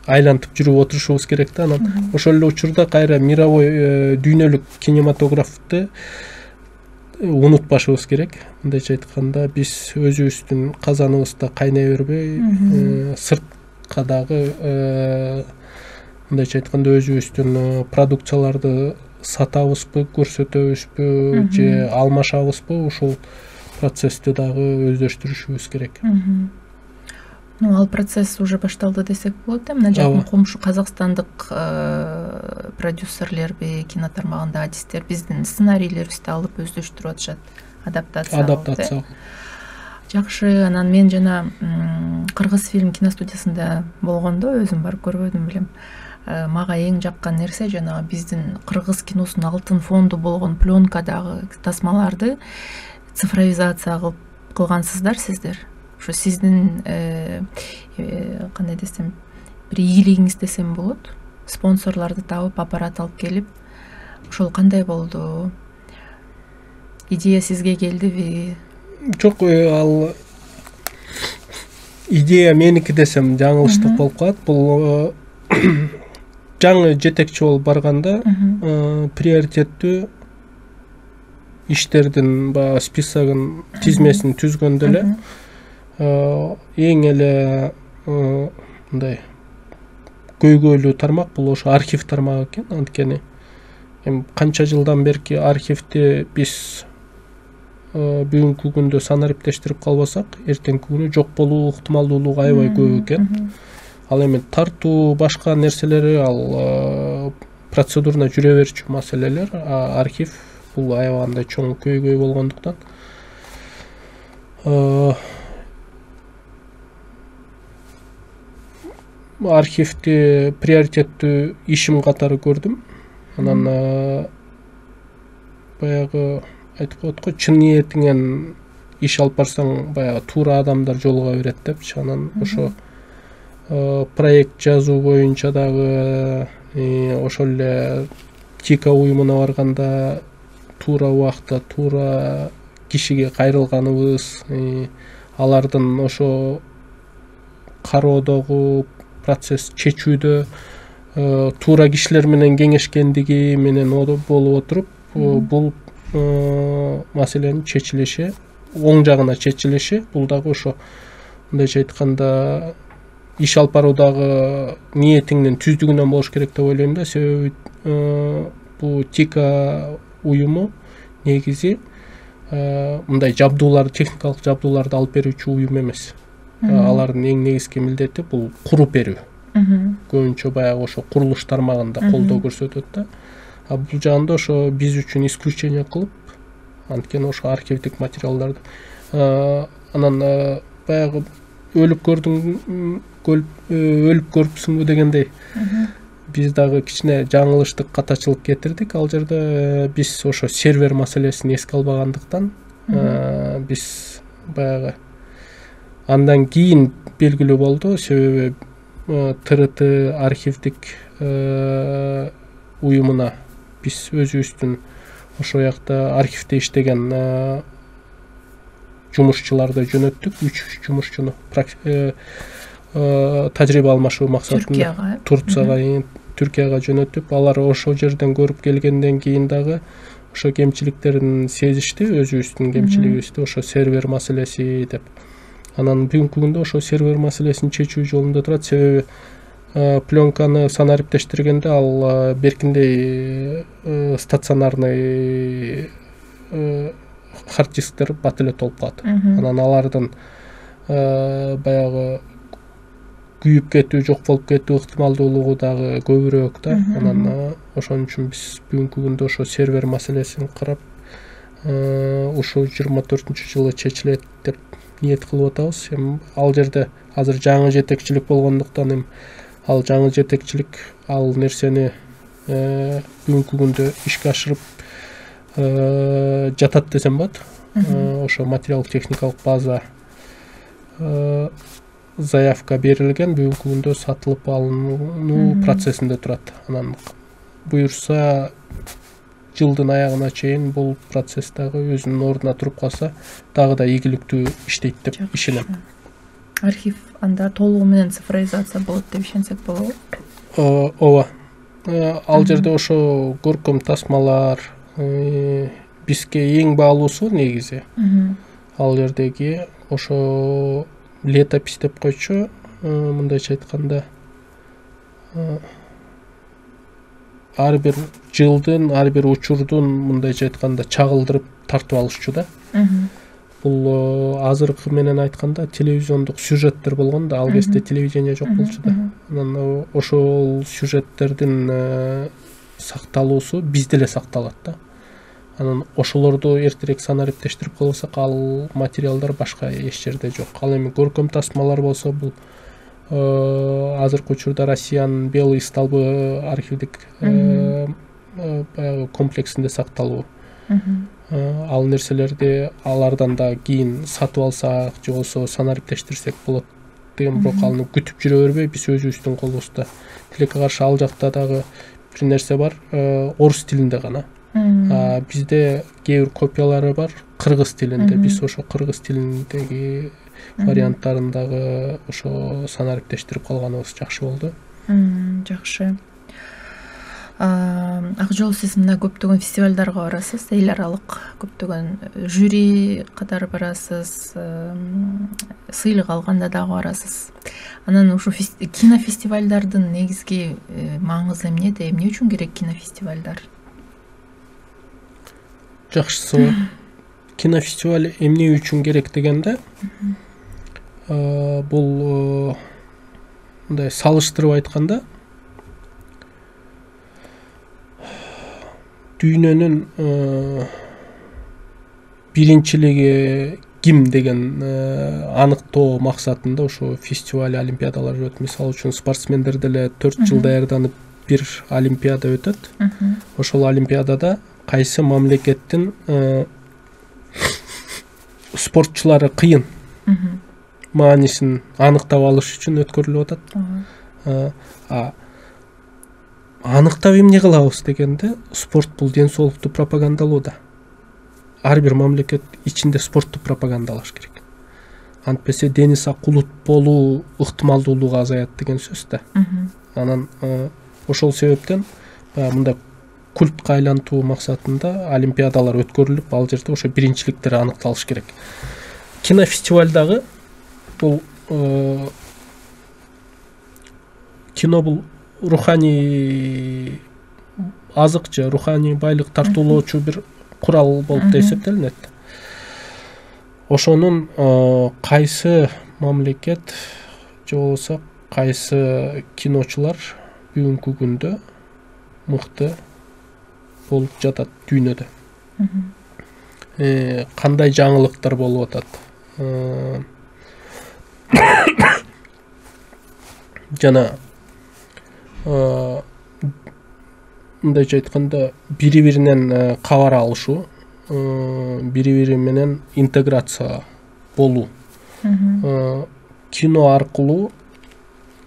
айлантып жүрүп отурушубуз керек да. Анан ошол эле учурда кайра мировой дүйнөлүк кинематографты унутпашыбыз керек. Мындайча айтканда биз өзүбүздүн казаныбызда кайнай бербей, сыртка дагы мындайча айтканда өзүбүздүн продукцияларды сатабызбы, көрсөтөбүзбү же алмашабызбы, ушул процессти дагы өздөштүрүшүбүз керек. Ну, ал процесс уже башталды десек болот. Мына жакын комшу казакстандык продюсерлерби, кино тармагында адистер биздин сценарийлерибизди алып өздөштүрүп атышат, адаптация. Адаптация. Жакшы. Анан мен жана Кыргыз фильм киностудиясында болгондо өзүм барып көрбөдүм билем. Мага эң жаккан нерсе жанагы биздин кыргыз киносунун алтын фонду болгон пленкадагы тасмаларды цифровизация кылып кылгансыздар сиздер. Ошо сиздин кандай десем, бир ийгилигиңиз десем болот. Спонсорлорду табып, аппарат алып келип, ошол кандай болду? Идея сизге келдиби? Жок, ал идея меники десем жаңылыштык болуп калат. Бул жаңы жетекчи болуп барганда приоритеттүү иштердин баягы списогун, тизмесин түзгөндө эле эң эле мындай көйгөйлүү тармак бул ошо архив тармагы экен. Анткени эми канча жылдан берки архивди биз бүгүнкү күндө санариптештирип калбасак, эртеңки күнү жок болуу ыктымалдуулугу аябай көп экен. Ал эми тартуу башка нерселери ал процедурно жүрө берчү маселелер. Архив бул аябагандай чоң көйгөй болгондуктан архивди приоритеттүү ишим катары көрдүм. Анан баягы айтып коет го, чын ниетиңен иш алып барсаң, баягы туура адамдар жолуга берет депчи. Анан ошо проект жазуу боюнча дагы ошол эле Тика уюмуна барганда туура убакта туура кишиге кайрылганыбыз, алардын ошо кароодогу процесс чечүүдө туура кишилер менен кеңешкендиги менен болуп отуруп, бул маселенин чечилиши, оң жагына чечилиши, бул дагы ошо мындайча айтканда иш алып баруудагы ниетиңдин түздүгүнөн болуш керек деп ойлойм да. Себеби бул Тика уюму негизи мындай жабдуулар, техникалык жабдууларды алып берүүчү уюм эмес. Алардын эң негизги милдети бул куруп берүү. Көбүнчө баягы ошо курулуш тармагында колдоо көрсөтөт да. А бул жагында ошо биз үчүн исключение кылып, анткени ошо архивдик материалдарды анан баягы өлүп көрдүң, өлүп көрүпсүңбү дегендей биз дагы кичине жаңылыштык, катачылык кетирдик. Ал жерде биз ошо сервер маселесин эске албагандыктан биз баягы андан кийин белгилүү болду. Себеби ТРТ архивдик уюмуна биз өзүбүздүн ошол жакта архивде иштеген жумушчуларды жөнөттүк, үч жумушчуну тажрыйба алмашуу максатында Турцияга, Түркияга жөнөтүп, алар ошол жерден көрүп келгенден кийин дагы ошо кемчиликтерин сезишти, өзүбүздүн кемчилигибизди, ошо сервер маселеси деп. Анан бүгүнкү күндө ошо сервер маселесин чечүү жолунда турат. Себеби пленканы санариптештиргенде ал беркиндей стационарный хард дисктер бат эле толуп калат. Анан алардын баягы күйүп кетүү, жок болуп кетүү ыктымалдуулугу дагы көбүрөөк да. Анан ошон үчүн биз бүгүнкү күндө ошо сервер маселесин карап, ушул жыйырма төртүнчү жылы чечилет деп ниет кылып атабыз. Эми ал жерде азыр жаңы жетекчилик болгондуктан эми ал жаңы жетекчилик ал нерсени бүгүнкү күндө ишке ашырып жатат десем болот. Ошо материалдык техникалык база заявка берилген, бүгүнкү күндө сатылып алынуу процессинде турат. Анан буюрса жылдын аягына чейин бул процесс дагы өзүнүн ордуна туруп калса, дагы да ийгиликтүү иштейт деп ишенем. Архив анда толугу менен цифровизация болот деп ишенсек болобу? Ооба. Ал жерде ошо көркөм тасмалар бизге эң баалуусу негизи. Ал жердеги ошо летопись деп койчу, мындайча айтканда ар бир жылдын, ар бир учурдун мындайча айтканда чагылдырып тартып алышчу да. Бул азыркы менен айтканда телевизиондук сюжеттер болгон да, ал кезде телевидение жок болчу да. Анан ошол сюжеттердин сакталуусу бизде эле сакталат да. Анан ошолорду эртерээк санариптештирип койсок, ал материалдар башка эч жерде жок. Ал эми көркөм тасмалар болсо, бул азыркы учурда Россиянын Белый столбы архивдик баягы комплексинде сакталуу. Ал нерселерди алардан да кийин сатып алсак же болбосо санариптештирсек болот деген, бирок аны күтүп жүрө бербей биз өзүбүздүн колубузда. Тилекке каршы ал жакта дагы бир нерсе бар, орус тилинде гана. А бизде кээ бир копиялары бар кыргыз тилинде. Биз ошо кыргыз тилиндеги варианттарын дагы ошо санариптештирип калганыбыз жакшы болду. Жакшы. Ак жол, сиз мына көптөгөн фестивалдарга барасыз, эл аралык көптөгөн жюри катары барасыз, сыйлык алганда дагы барасыз. Анан ушу кинофестивалдардын негизги маңызы эмнеде? Эмне үчүн керек кинофестивалдар? Жакшы суроо. Кинофестиваль эмне үчүн керек дегенде, бул мындай салыштырып айтканда, дүйнөнүн биринчилиги ким деген аныктоо максатында ошо фестиваль, олимпиадалар өтөт. Мисалы үчүн спортсмендер деле төрт жыл даярданып бир олимпиада өтөт. Ошол олимпиадада кайсы мамлекеттин спортчулары кыйын маанисин аныктап алыш үчүн өткөрүлүп атат. Аныктап эмне кылабыз дегенде, спорт бул ден соолукту пропагандалоо да. Ар бир мамлекет ичинде спортту пропагандалаш керек. Антпесе дени сак улут болуу ыктымалдуулугу азаят деген сөз да. Анан ошол себептен мындай культка айлантуу максатында олимпиадалар өткөрүлүп, ал жерде ошо биринчиликтер аныкталыш керек. Кинофестивалдагы бул кино бул руханий азык же руханий байлык тартуулоочу бир курал болуп да эсептелинет. Ошонун кайсы мамлекет же болбосо кайсы киночулар бүгүнкү күндө мыкты болуп жатат дүйнөдө. Кандай жаңылыктар болуп атат? Жана мындайча айтканда бири-биринен кабар алышуу, бири-бири менен интеграция болуу. Кино аркылуу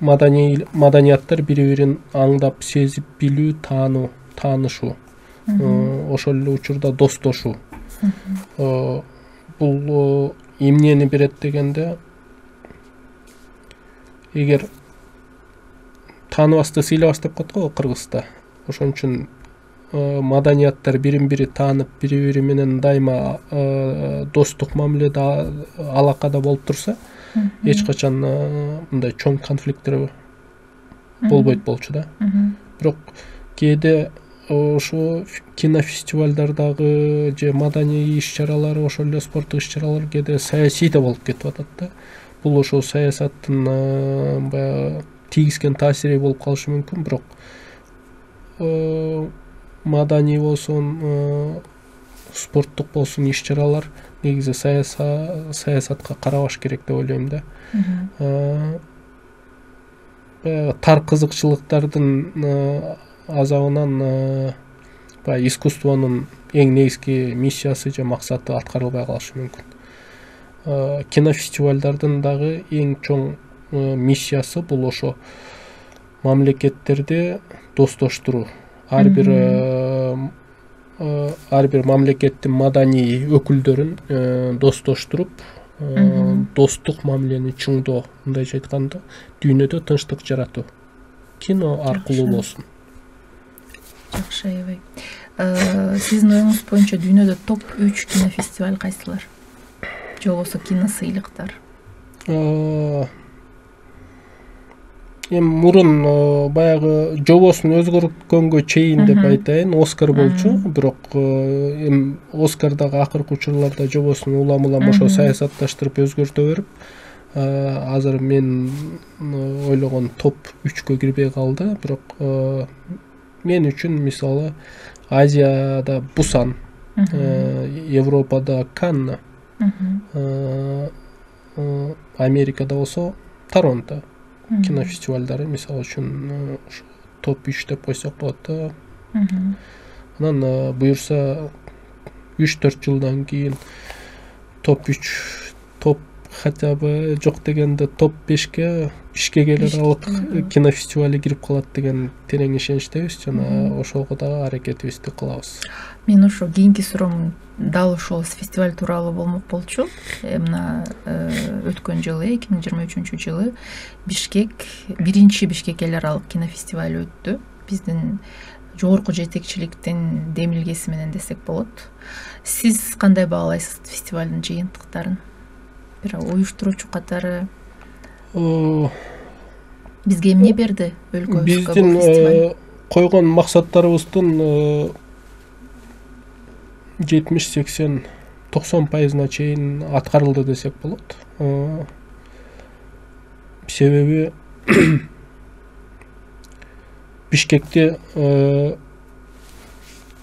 маданияттар бири-бирин аңдап, сезип билүү, таануу, таанышуу. Ошол эле учурда достошуу. Бул эмнени берет дегенде, эгер тааныбасты сыйлабас деп коет го кыргызда. Ошон үчүн маданияттар бирин-бири таанып, бири-бири менен дайыма достук мамиледе, алакада болуп турса, эч качан мындай чоң конфликттер болбойт болчу да. Бирок кээде ошо кинофестивалдардагы же маданий иш-чаралар, ошол эле спорттук иш-чаралар кээде саясий да болуп кетип атат да. Бул ошол саясаттын баягы тийгизген таасири болуп калышы мүмкүн, бирок маданий болсун, спорттук болсун иш-чаралар негизи саясатка карабаш керек деп ойлойм да. Тар кызыкчылыктардын азабынан баягы искусствонун эң негизги миссиясы же максаты аткарылбай калышы мүмкүн. Кинофестивалдардын дагы эң чоң миссиясы бул ошо мамлекеттерди достоштуруу. Ар бир ар бир мамлекеттин маданий өкүлдөрүн достоштуруп, достук мамилени чыңдоо, мындайча айтканда, дүйнөдө тынчтык жаратуу. Кино аркылуу болсун. Жакшы, аябай. Сиздин оюңуз боюнча дүйнөдө топ үч кинофестиваль кайсылар? Же болбосо киносыйлыктар? Эми мурун баягы жобосун өзгөрткөнгө чейин деп айтайын, Оскар болчу, бирок эми Оскардагы акыркы учурларда жобосун улам-улам ошо саясатташтырып өзгөртө берип, азыр мен ойлогон топ үчкө кирбей калды, бирок мен үчүн мисалы Азияда Бусан, Европада Канн, Америкада болсо Торонто кинофестивалдары мисалы үчүн топ үч деп койсок болот да. Анан буюрса үч төрт жылдан кийин топ үч, топ хотя бы жок дегенде топ бешке Бишкек эл аралык кинофестивали кирип калат деген терең ишеничтебиз, жана ошого дагы аракетибизди кылабыз. Мен ошо кийинки суроом дал ошол фестиваль тууралуу болмок болчу. Мына өткөн жылы, эки миң жыйырма үчүнчү жылы Бишкек, биринчи Бишкек эл аралык кинофестивали өттү. Биздин жогорку жетекчиликтин демилгеси менен десек болот. Сиз кандай баалайсыз фестивалдын жыйынтыктарын? Бир уюштуруучу катары бизге эмне берди өлкөбүзгө? Биздин койгон максаттарыбыздын жетимиш сексен токсон пайызына чейин аткарылды десек болот. Себеби Бишкекте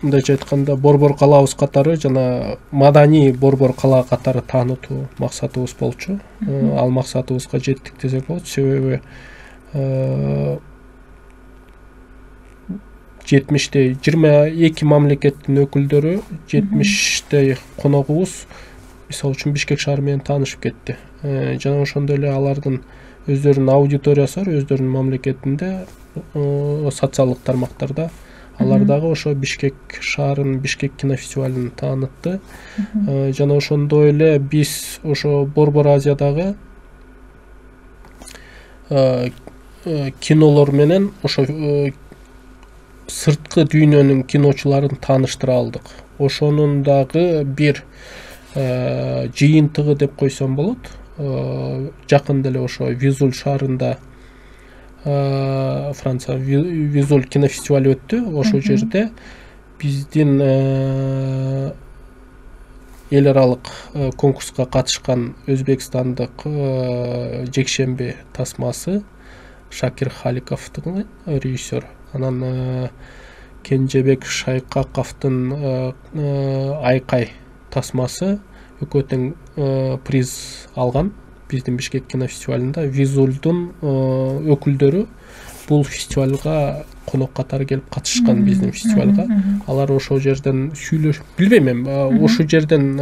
мындайча айтканда борбор калабыз катары жана маданий борбор кала катары таанытуу максатыбыз болчу. Ал максатыбызга жеттик десек болот. Себеби жетимиштей жыйырма эки мамлекеттин өкүлдөрү, жетимиштей коногубуз мисалы үчүн Бишкек шаары менен таанышып кетти. Жана ошондой эле алардын өздөрүнүн аудиториясы бар, өздөрүнүн мамлекетинде социалдык тармактарда. Алар дагы ошо Бишкек шаарын, Бишкек кинофестивалын таанытты. Жана ошондой эле биз ошо Борбор Азиядагы кинолор менен ошо сырткы дүйнөнүн киночуларын тааныштыра алдык. Ошонун дагы бир жыйынтыгы деп койсом болот. Жакында эле ошо Визуль шаарында Франция Визуль кинофестивали өттү. Ошол жерде биздин эл аралык конкурска катышкан өзбекстандык жекшемби тасмасы Шакир Халиковдун режиссер. Анан Кенжебек Шайкаковдун Айкай тасмасы экөө тең приз алган биздин Бишкек кинофестивалында. Визульдун өкүлдөрү бул фестивалга конок катары келип катышкан биздин фестивалга. Алар ошол жерден сүйлөшүп, билбейм эми, ошол жерден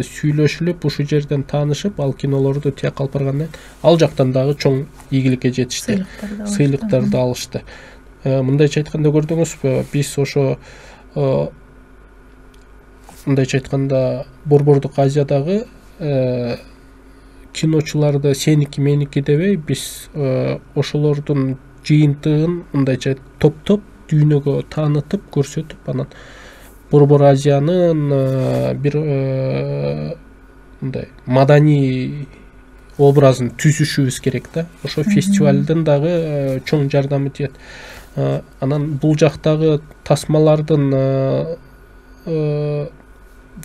сүйлөшүлүп, ошол жерден таанышып, ал кинолорду тияк алып баргандан ал жактан дагы чоң ийгиликке жетишти. Сыйлыктарды алышты. Мындайча айтканда көрдүңүзбү, биз ошо мындайча айтканда Борбордук Азиядагы киночуларды сеники меники дебей, биз ошолордун жыйынтыгын мындайча топтоп дүйнөгө таанытып, көрсөтүп, анан Борбор Азиянын бир мындай маданий образын түзүшүбүз керек да. Ошо фестивалдын дагы чоң жардамы тиет. Анан бул жактагы тасмалардын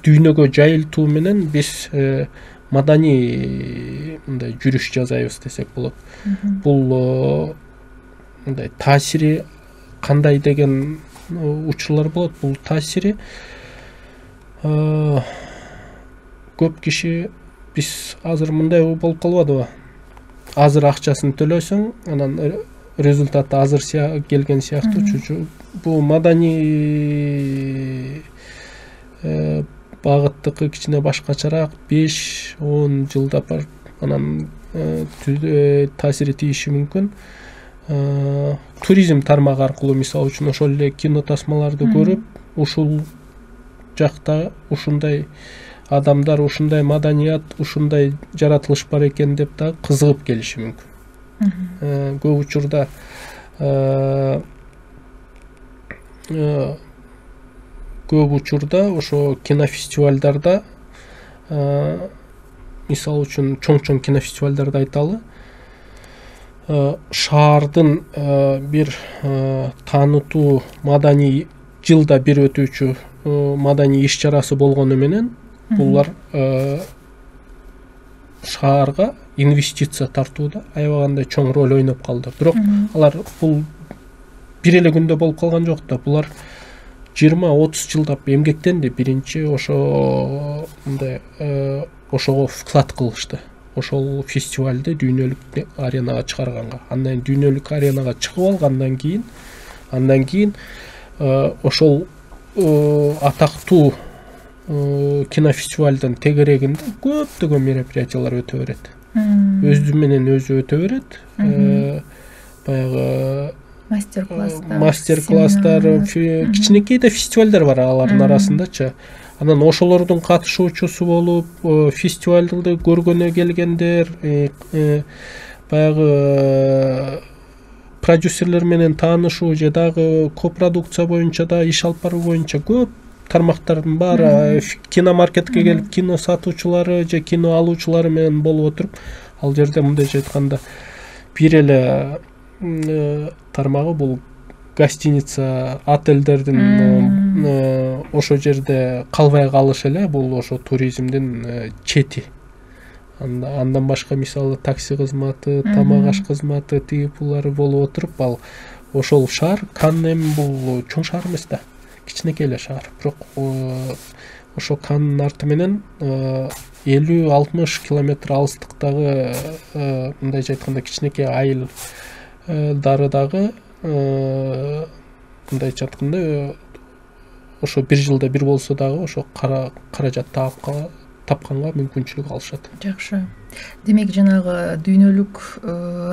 дүйнөгө жайылтуу менен биз маданий мындай жүрүш жасайбыз десек болот. Бул мындай таасири кандай деген учурлар болот. Бул таасири көп киши биз азыр мындай болуп калбадыбы? Азыр акчасын төлөсөң, анан результаты азыр келген сыяктуу. Бул маданий багыттыкы кичине башкачараак, беш он жылдап барып анан таасири тийиши мүмкүн. Туризм тармагы аркылуу мисалы үчүн ошол эле кино тасмаларды көрүп, ушул жакта ушундай адамдар, ушундай маданият, ушундай жаратылыш бар экен деп да кызыгып келиши мүмкүн. Көп учурда көп учурда ошо кинофестивалдарда, мисалы үчүн чоң-чоң кинофестивалдарды айталы, шаардын бир таанытуу маданий жылда бир өтүүчү маданий иш чарасы болгону менен булар шаарга инвестиция тартууда аябагандай чоң роль ойноп калды. Бирок алар бул бир эле күндө болуп калган жок да. Булар жыйырма отуз жылдап эмгектенди. Биринчи ошо мындай ошого вклад кылышты. Ошол фестивалды дүйнөлүк аренага чыгарганга. Андан дүйнөлүк аренага чыгып алгандан кийин, андан кийин ошол атактуу кинофестивалдын тегерегинде көптөгөн мероприятиялар өтө берет. Өзү менен өзү өтө берет. Баягы мастер-класстар, мастер-класстар, кичинекей да фестивалдар бар алардын арасындачы. Анан ошолордун катышуучусу болуп, фестивалды көргөнө келгендер, баягы продюсерлер менен таанышуу же дагы копродукция боюнча да иш алып баруу боюнча көп тармактардын баары, киномаркетке келип кино сатуучулары же кино алуучулары менен болуп отуруп, ал жерде мындайча айтканда бир эле тармагы бул гостиница, отелдердин ошол жерде калбай калыш эле, бул ошо туризмдин чети. Андан башка мисалы такси кызматы, тамак аш кызматы, тиги булары болуп отуруп, ал ошол шаар Канн эми бул чоң шаар эмес да. кичинекей эле шаар, бирок ошо Канн арты менен элүү алтымыш километр алыстыктагы мындайча айтканда кичинекей айылдары дагы мындайча айтканда ошо бир жылда бир болсо дагы ошо каражат тапканга мүмкүнчүлүк алышат. Жакшы. Демек жанагы дүйнөлүк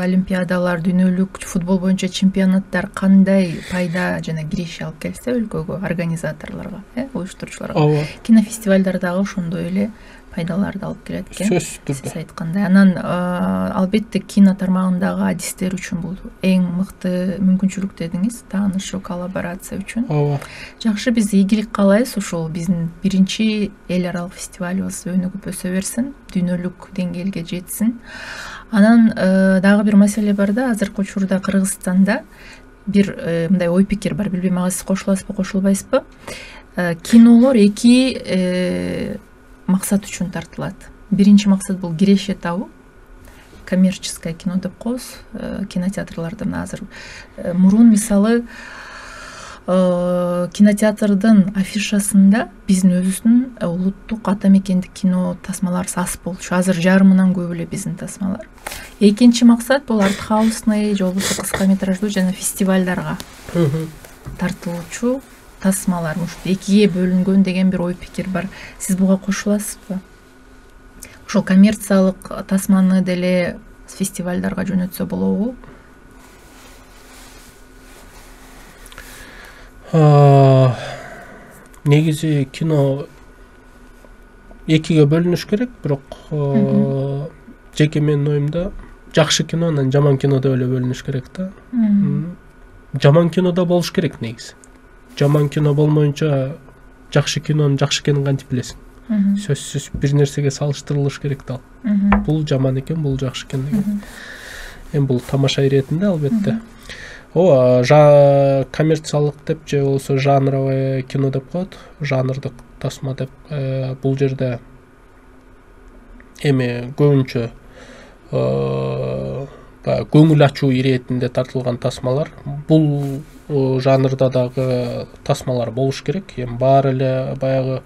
олимпиадалар, дүйнөлүк футбол боюнча чемпионаттар кандай пайда жана киреше алып келсе өлкөгө, организаторлорго, э, уюштуруучуларга. Ооба. Кинофестивалдар дагы ошондой эле пайдаларды алып келет экен. Сөзсүз түрдө. Сиз айткандай. Анан албетте кино тармагындагы адистер үчүн бул эң мыкты мүмкүнчүлүк дедиңиз, таанышы, коллаборация үчүн. Ооба. Жакшы, биз ийгилик каалайбыз. Ушул биздин биринчи эл аралык фестивалыбыз өнүгүп өсө берсин, дүйнөлүк деңгээлге жетсин. Анан дагы бир маселе бар да, азыркы учурда Кыргызстанда бир мындай ой пикир бар. Билбейм, ага сиз кошуласызбы, кошулбайсызбы? Кинолор эки максат үчүн тартылат. Биринчи максат бул киреше табуу, коммерческое кино деп коебуз. Кинотеатрлардан азыр мурун мисалы кинотеатрдын афишасында биздин өзүбүздүн улуттук ата мекендик кино тасмалары аз болчу. Азыр жарымынан көп эле биздин тасмалар. Экинчи максат бул артхаусный же болбосо кыска метраждуу жана фестивалдарга тартылуучу тасмалар ушул экиге бөлүнгөн деген бир ой пикир бар. Сиз буга кошуласызбы? Ошол коммерциялык тасманы деле фестивалдарга жөнөтсө болобу? Негизи кино экиге бөлүнүш керек, бирок жеке менин оюмда жакшы кино менен жаман кино деп эле бөлүнүш керек да. Жаман кино да болуш керек негизи. Жаман кино болмоюнча жакшы кинонун жакшы экенин кантип билесиң? Сөзсүз бир нерсеге салыштырылыш керек да. Бул жаман экен, бул жакшы экен деген. Эми бул тамаша иретинде албетте. Ооба, коммерциялык деп же болбосо жанровый кино деп коет, жанрдык тасма деп. Бул жерде эми көбүнчө баягы көңүл ачуу иретинде тартылган тасмалар. Бул жанрда дагы тасмалар болуш керек. Эми баары эле баягы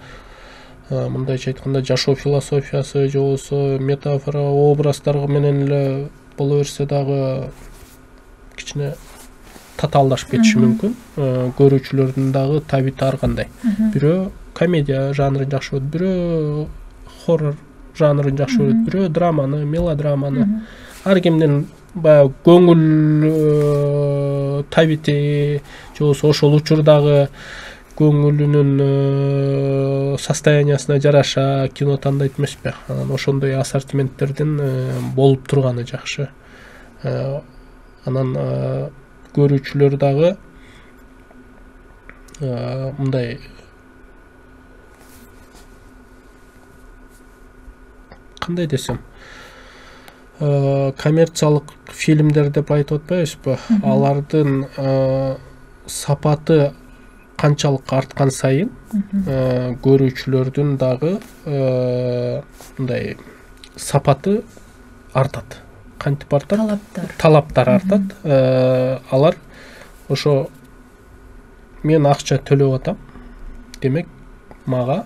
мындайча айтканда жашоо философиясы же болбосо метафора, образдар менен эле боло берсе дагы кичине татаалдашып кетиши мүмкүн. Көрүүчүлөрдүн дагы табити ар кандай. Бирөө комедия жанрын жакшы көрөт, бирөө хоррор жанрын жакшы көрөт, бирөө драманы, мелодраманы. Ар кимдин баягы көңүл табити же болбосо ошол учурдагы көңүлүнүн состояниясына жараша кино тандайт эмеспи? Анан ошондой ассортименттердин болуп турганы жакшы. Анан көрүүчүлөр дагы мындай кандай десем, коммерциялык фильмдер деп айтып атпайбызбы? Алардын сапаты канчалык арткан сайын көрүүчүлөрдүн дагы мындай сапаты артат. Кантип артат? Талаптар. Талаптар артат. Алар ошо мен акча төлөп атам, демек мага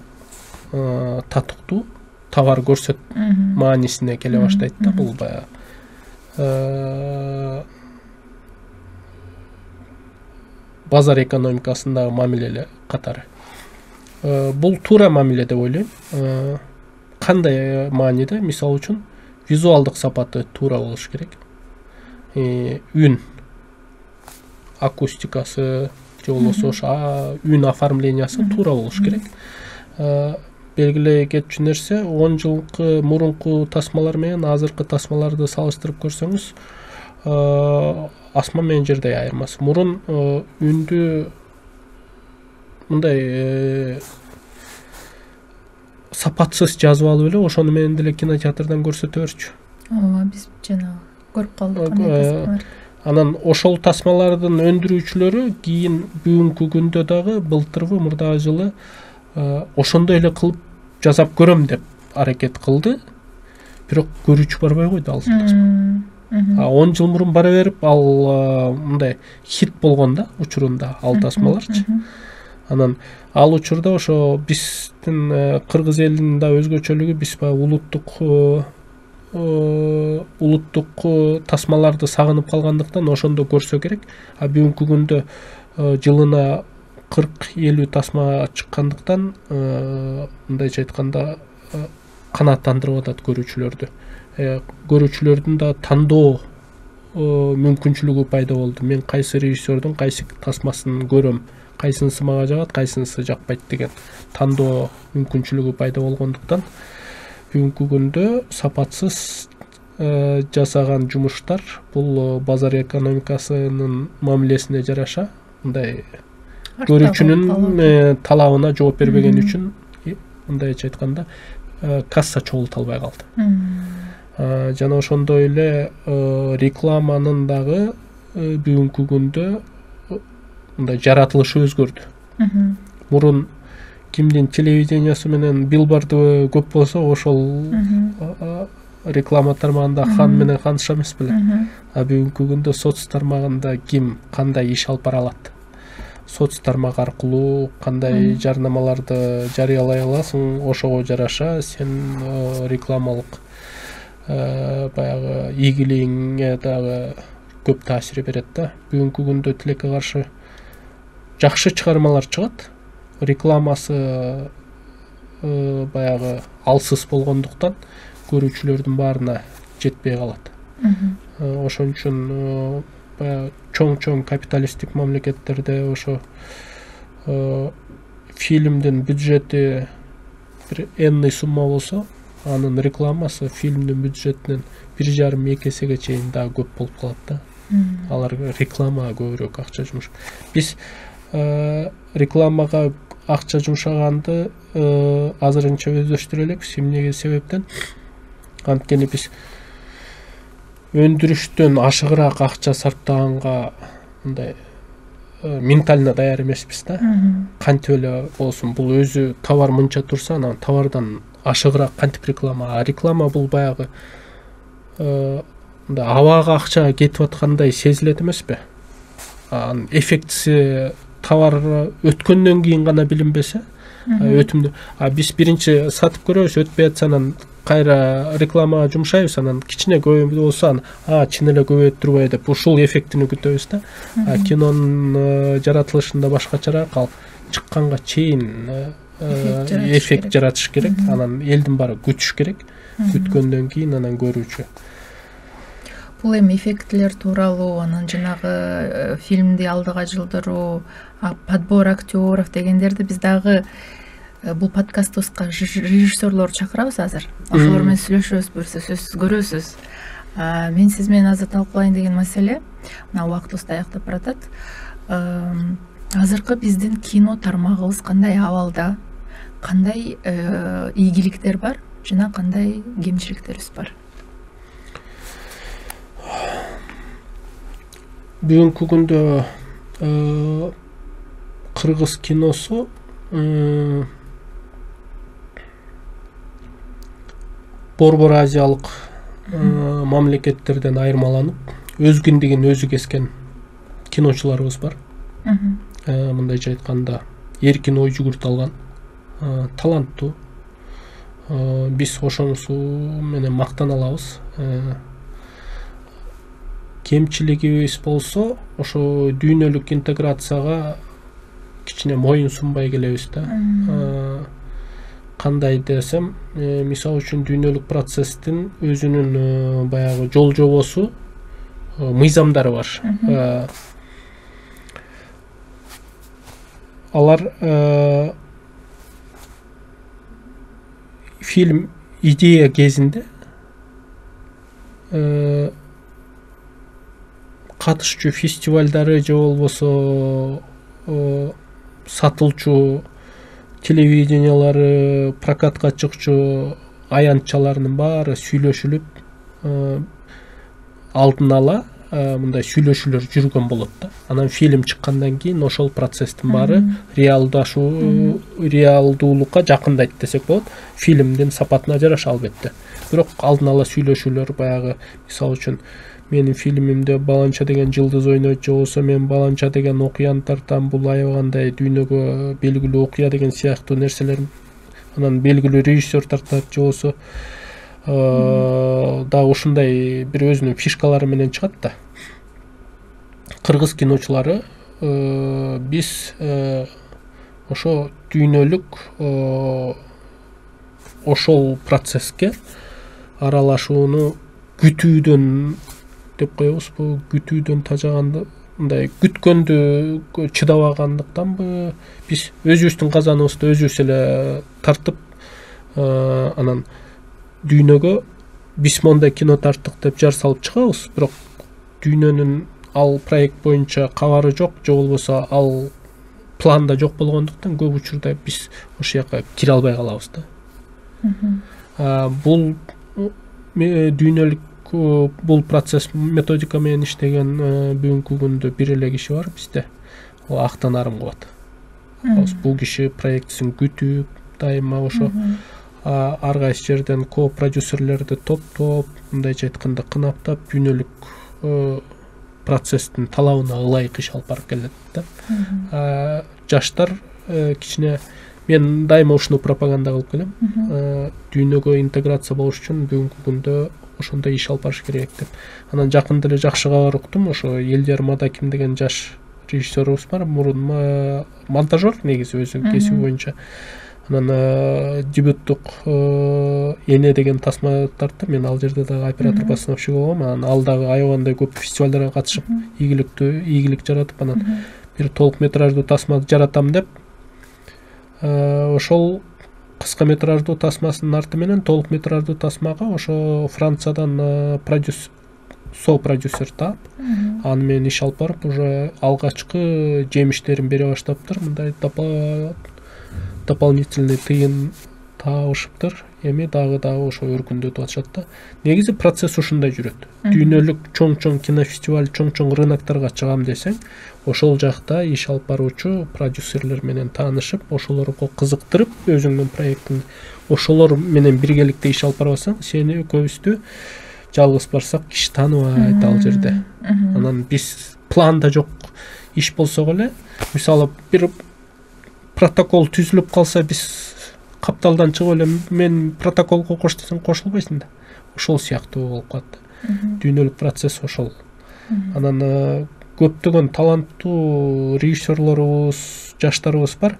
татыктуу товар көрсөт маанисине келе баштайт да. Бул баягы базар экономикасындагы мамиле катары. Бул туура мамиле деп ойлойм. Кандай мааниде? Мисалы үчүн визуалдык сапаты туура болуш керек. Үн, акустикасы же болбосо ошо үн оформлениясы туура болуш керек. Белгилей кетчү нерсе, он жылкы мурунку тасмалар менен азыркы тасмаларды салыштырып көрсөңүз, асман менен жердей айырмасы. Мурун үндү мындай сапатсыз жазып алып эле ошону менен деле кинотеатрдан көрсөтө берчү. Ооба, биз жанагы көрүп калдык кандай тасмалар. Анан ошол тасмалардын өндүрүүчүлөрү кийин бүгүнкү күндө дагы былтырбы мурдагы жылы ошондой эле кылып жасап көрөм деп аракет кылды. Бирок көрүүчү барбай койду ал тасма. он жыл мурун бара берип ал мындай хит болгон да учурунда ал тасмаларчы. Анан ал учурда ошо биздин кыргыз элинин да өзгөчөлүгү биз баягы улуттук улуттук тасмаларды сагынып калгандыктан ошондо көрсө керек. А бүгүнкү күндө жылына кырк элүү тасма чыккандыктан мындайча айтканда канааттандырып атат көрүүчүлөрдү. Көрүүчүлөрдүн да тандоо мүмкүнчүлүгү пайда болду. Мен кайсы режиссердун кайсы тасмасын көрөм, кайсынысы мага жагат, кайсынысы жакпайт деген тандоо мүмкүнчүлүгү пайда болгондуктан бүгүнкү күндө сапатсыз жасаган жумуштар бул базар экономикасынын мамилесине жараша мындай көрүүчүнүн талабына жооп бербегени үчүн мындайча айтканда касса чогулта албай калды. Жана ошондой эле рекламанын дагы бүгүнкү күндө мындай жаратылышы өзгөрдү. Мурун кимдин телевидениясы менен билборду көп болсо ошол реклама тармагында хан менен ханша эмес беле. А бүгүнкү күндө соц тармагында ким кандай иш алып бара алат, соц тармак аркылуу кандай жарнамаларды жарыялай аласың, ошого жараша сен рекламалык баягы ийгилигиңе дагы көп таасир берет да. Бүгүнкү күндө тилекке каршы жакшы чыгармалар чыгат, рекламасы баягы алсыз болгондуктан көрүүчүлөрдүн баарына жетпей калат. Ошон үчүн баягы чоң-чоң капиталисттик мамлекеттерде ошо фильмдин бюджети бир энный сумма болсо, анын рекламасы фильмдин бюджетинен бир жарым эки эсеге чейин дагы көп болуп калат да. Алар рекламага көбүрөөк акча жумуш. Биз рекламага акча жумшаганды азырынча өздөштүрө элекпиз. Эмнеге себептен? Анткени биз өндүрүштөн ашыгыраак акча сарптаганга мындай ментально даяр эмеспиз да. Кантип эле болсун, бул өзү товар мынча турса, анан товардан ашыгыраак кантип реклама? А реклама бул баягы мындай абага акча кетип аткандай сезилет эмеспи? Анын эффектиси товар өткөндөн кийин гана билинбесе, өтүмдү. А биз биринчи сатып көрөбүз, өтпөй атса анан кайра рекламага жумшайбыз, анан кичине көбөйүп болсо анан а чын эле көбөйүп турбайбы деп ушул эффектини күтөбүз да. А кинонун жаратылышында башкачараак, ал чыкканга чейин эффект жаратыш керек, анан элдин баары күтүш керек, күткөндөн кийин анан көрүүчү. Бул эми эффектилер тууралуу, анан жанагы фильмди алдыга жылдыруу, подбор актеров дегендерди биз дагы бул подкастыбызга режиссерлорду чакырабыз азыр. Ошолор менен сүйлөшөбүз, буюрса сөзсүз көрөсүз. Мен сиз менен азыр талкуулайын деген маселе, мына убактыбыз аяктап баратат. Азыркы биздин кино тармагыбыз кандай абалда, кандай ийгиликтер бар жана кандай кемчиликтерибиз бар? Бүгүнкү күндө кыргыз киносу Борбор Азиялык мамлекеттерден айырмаланып, өз киндигин өзү кескен киночуларыбыз бар. Мындайча айтканда, эркин ой жүгүртө алган, таланттуу. Биз ошонусу менен мактана алабыз. Кемчилигибиз болсо, ошо дүйнөлүк интеграцияга кичине моюн сунбай келебиз да. Кандай десем, мисалы үчүн дүйнөлүк процесстин өзүнүн баягы жол жобосу, мыйзамдары бар. Алар фильм идея кезинде катышчу фестивалдары же болбосо сатылчу телевидениялары, прокатка чыкчу аянтчаларынын баары сүйлөшүлүп алдын ала мындай сүйлөшүүлөр жүргөн болот да. Анан фильм чыккандан кийин ошол процесстин баары реалдашуу реалдуулукка жакындайт десек болот. Фильмдин сапатына жараша албетте. Бирок алдын ала сүйлөшүүлөр баягы мисалы үчүн менин фильмимде баланча деген жылдыз ойнойт, же болбосо мен баланча деген окуяны тартам, бул аябагандай дүйнөгө белгилүү окуя деген сыяктуу нерселер, анан белгилүү режиссер тартат, же болбосо да ушундай бир өзүнүн фишкалары менен чыгат да. Кыргыз киночулары биз ошо дүйнөлүк ошол процесске аралашууну күтүүдөн деп коебузбу, күтүүдөн тажаганда мындай күткөндү чыдабагандыктанбы, биз өзүбүздүн казаныбызды өзүбүз эле тартып анан дүйнөгө биз мондай кино тарттык деп жар салып чыгабыз, бирок дүйнөнүн ал проект боюнча кабары жок, же болбосо ал планда жок болгондуктан көп учурда биз ошол жака кире албай калабыз да. Бул дүйнөлүк бул процесс методика менен иштеген бүгүнкү күндө бир эле киши бар бизде. Ал Актан Арымкулат. Бул киши проектисин күтүп, дайыма ошо ар кайсы жерден ко-продюсерлерди топтоп, мындайча айтканда кынаптап, дүйнөлүк процесстин талабына ылайык иш алып барып келет да. Жаштар кичине, мен дайыма ушуну пропаганда кылып келем. Дүйнөгө интеграция болуш үчүн бүгүнкү күндө ошондой иш алып барыш керек деп. Анан жакында эле жакшы кабар уктум, ошо Элдияр Мадаким деген жаш режиссерубуз бар, мурун монтажер негизи өзү кесиби боюнча. Анан дебюттук Эне деген тасма тартты. Мен ал жерде дагы оператор-постановщик болгом. Анан ал дагы аябагандай көп фестивалдарга катышып, ийгиликтүү ийгилик жаратып, анан бир толук метраждуу тасма жаратам деп, ошол кыска метраждуу тасмасынын арты менен толук метраждуу тасмага ошо Франциядан продюсер, со-продюсер таап, аны менен иш алып барып, уже алгачкы жемиштерин бере баштаптыр. Мындай дополнительный тыйын табышыптыр. Эми дагы дагы ошо өркүндөтүп атышат да. Негизи процесс ушундай жүрөт. Дүйнөлүк чоң-чоң кинофестиваль, чоң-чоң рыноктарга чыгам десең, ошол жакта иш алып баруучу продюсерлер менен таанышып, ошолорго кызыктырып, өзүңдүн проектиңди ошолор менен биргеликте иш алып барбасаң, сени экөөбүздү жалгыз барсак киши тааныбайт ал жерде. Анан биз планда жок иш болсок эле, мисалы бир протокол түзүлүп калса, биз капталдан чыгып эле мен протоколго кош десең кошулбайсың да. Ошол сыяктуу болуп калат. Дүйнөлүк процесс ошол. Анан көптөгөн таланттуу режиссерлорубуз, жаштарыбыз бар.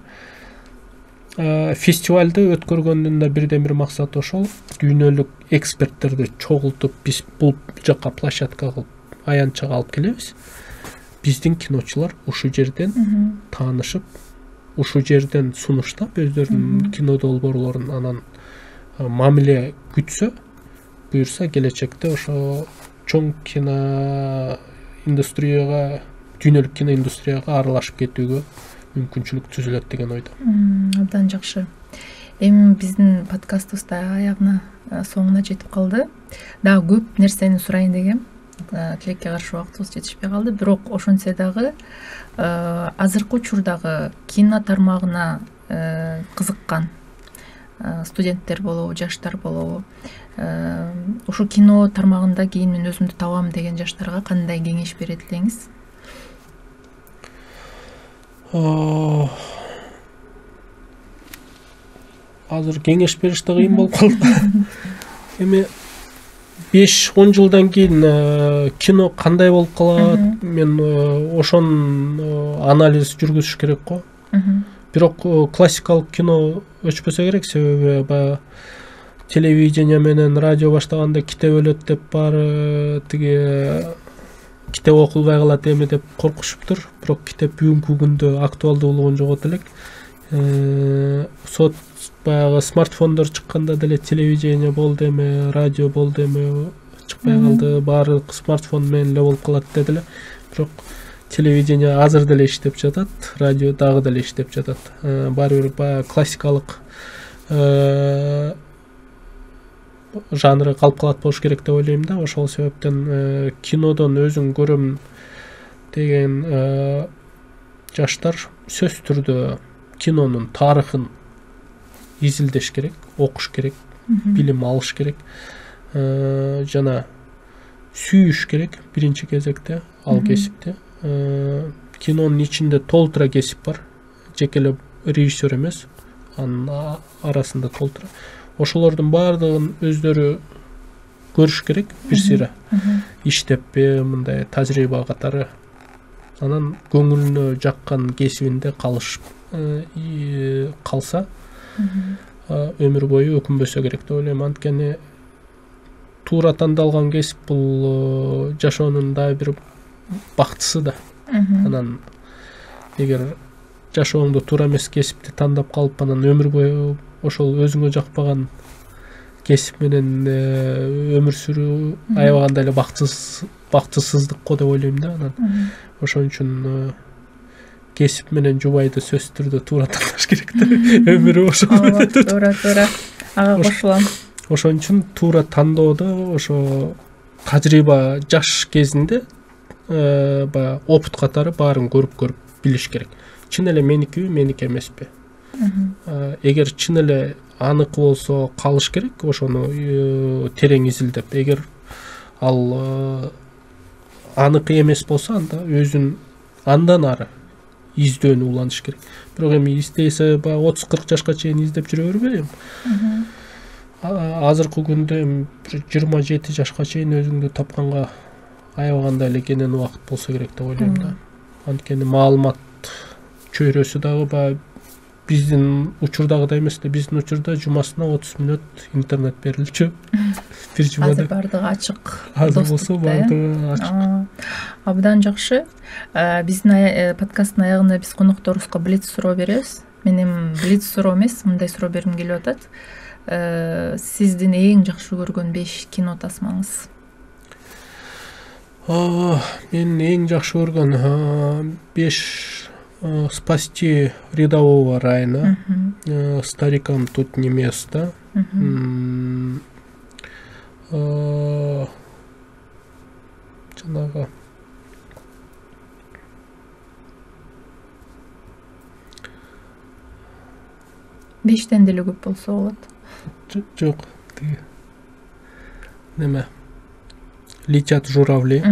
Фестивалды өткөргөндүн да бирден бир максаты ошол. Дүйнөлүк эксперттерди чогултуп, биз бул жакка площадка кылып, аянтчага алып келебиз. Биздин киночулар ушул жерден таанышып, ушул жерден сунуштап өздөрүнүн кино долбоорлорун анан мамиле күтсө, буюрса келечекте ошо чоң кино индустрияга, дүйнөлүк кино индустрияга аралашып кетүүгө мүмкүнчүлүк түзүлөт деген ойдо. Абдан жакшы. Эми биздин подкастыбыз да аягына, соңуна жетип калды. Дагы көп нерсени сурайын дегем. Тилекке каршы убактыбыз жетишпей калды. Бирок ошентсе дагы азыркы учурдагы кино тармагына кызыккан студенттер болобу, жаштар болобу, ушу кино тармагында кийин мен өзүмдү табам деген жаштарга кандай кеңеш берет элеңиз? Азыр кеңеш бериш да кыйын болуп калды. Эми беш он жылдан кийин кино кандай болуп калат, мен ошонун анализ жүргүзүш керек го. Бирок классикалык кино өчпөсө керек, себеби баягы телевидение менен радио баштаганда китеп өлөт деп баары тиги китеп окулбай калат эми деп коркушуптур. Бирок китеп бүгүнкү күндө актуалдуулугун жогото элек. Сот баягы смартфондор чыкканда деле телевидение болду эми, радио болду эми, чыкпай калды, баары смартфон менен эле болуп калат дедиле. Бирок телевидение азыр деле иштеп жатат, радио дагы деле иштеп жатат. Баары бир баягы классикалык жанры калп болуш керек деп ойлойм да. Ошол себептен кинодон өзүң көрөм деген жаштар сөзсүз түрдө кинонун тарыхын изилдеш керек, окуш керек, билим алыш керек, жана сүйүш керек биринчи кезекте ал кесипти. Кинонун ичинде толтура кесип бар, жеке эле режиссер эмес, анын арасында толтура. Ошолордун баардыгын өздөрү көрүш керек бир сыйра. Иштеппи мындай тажрыйба катары. Анан көңүлүнө жаккан кесибинде калыш калса өмүр бою өкүнбөсө керек деп ойлойм. Анткени туура тандалган кесип бул жашоонун дагы бир бактысы да. Анан эгер жашооңдо туура эмес кесипти тандап калып, анан өмүр бою ошол өзүңө жакпаган кесип менен өмүр сүрүү аябагандай эле бактысыз бактысыздык го деп ойлойм да. Анан ошон үчүн кесип менен жубайды сөзсүз түрдө туура тандаш керек да. Өмүрү ошол менен. Туура, туура. Ага кошулам. Ошон үчүн туура тандоодо ошо тажрыйба жаш кезинде баягы опыт катары баарын көрүп көрүп билиш керек. Чын эле меникиби, меники эмеспи. Эгер чын эле аныкы болсо калыш керек, ошону терең изилдеп. Эгер ал аныкы эмес болсо, анда өзүн андан ары издөөнү уланыш керек. Бирок эми издесе баягы отуз кырк жашка чейин издеп жүрө бербейм. Азыркы күндө эми жыйырма жети жашка чейин өзүңдү тапканга аябагандай эле кенен убакыт болсо керек деп ойлойм да. Анткени маалымат чөйрөсү дагы баягы биздин учурдагыдай эмес да. Биздин учурда жумасына отуз мүнөт интернет берилчү. Бир жумада. Азыр бардыгы ачык. Азыр болсо бардыгы ачык. Абдан жакшы. Биздин подкасттын аягында биз конокторубузга блиц суроо беребиз. Мен эми блиц суроо эмес, мындай суроо бергим келип атат. Сиздин эң жакшы көргөн беш кино тасмаңыз? Мен эң жакшы көргөн беш «Спасти рядового Райана», «Старикам тут не место», жанагы бештен деле көп болсо болот. Жок, тиги неме «Летят журавли»,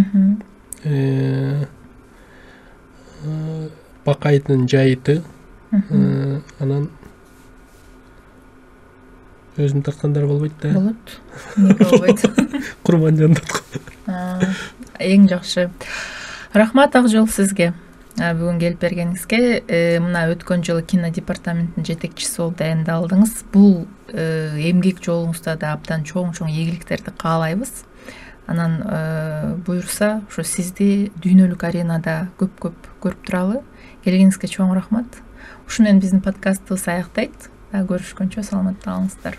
«Бакайдын жайыты», анан өзүм тарткандар болбойт да. Болот. Эмне болбойт? Курманжандат. Эң жакшы. Рахмат Акжол сизге. Бүгүн келип бергениңизге. Мына өткөн жылы кино департаментинин жетекчиси болуп дайындалдыңыз. Бул эмгек жолуңузда да абдан чоң-чоң ийгиликтерди каалайбыз. Анан буюрса, ошо сизди дүйнөлүк аренада көп-көп көрүп туралы. Келгениңизге чоң рахмат. Ушу менен биздин подкастыбыз аяктайт. Көрүшкөнчө саламатта калыңыздар.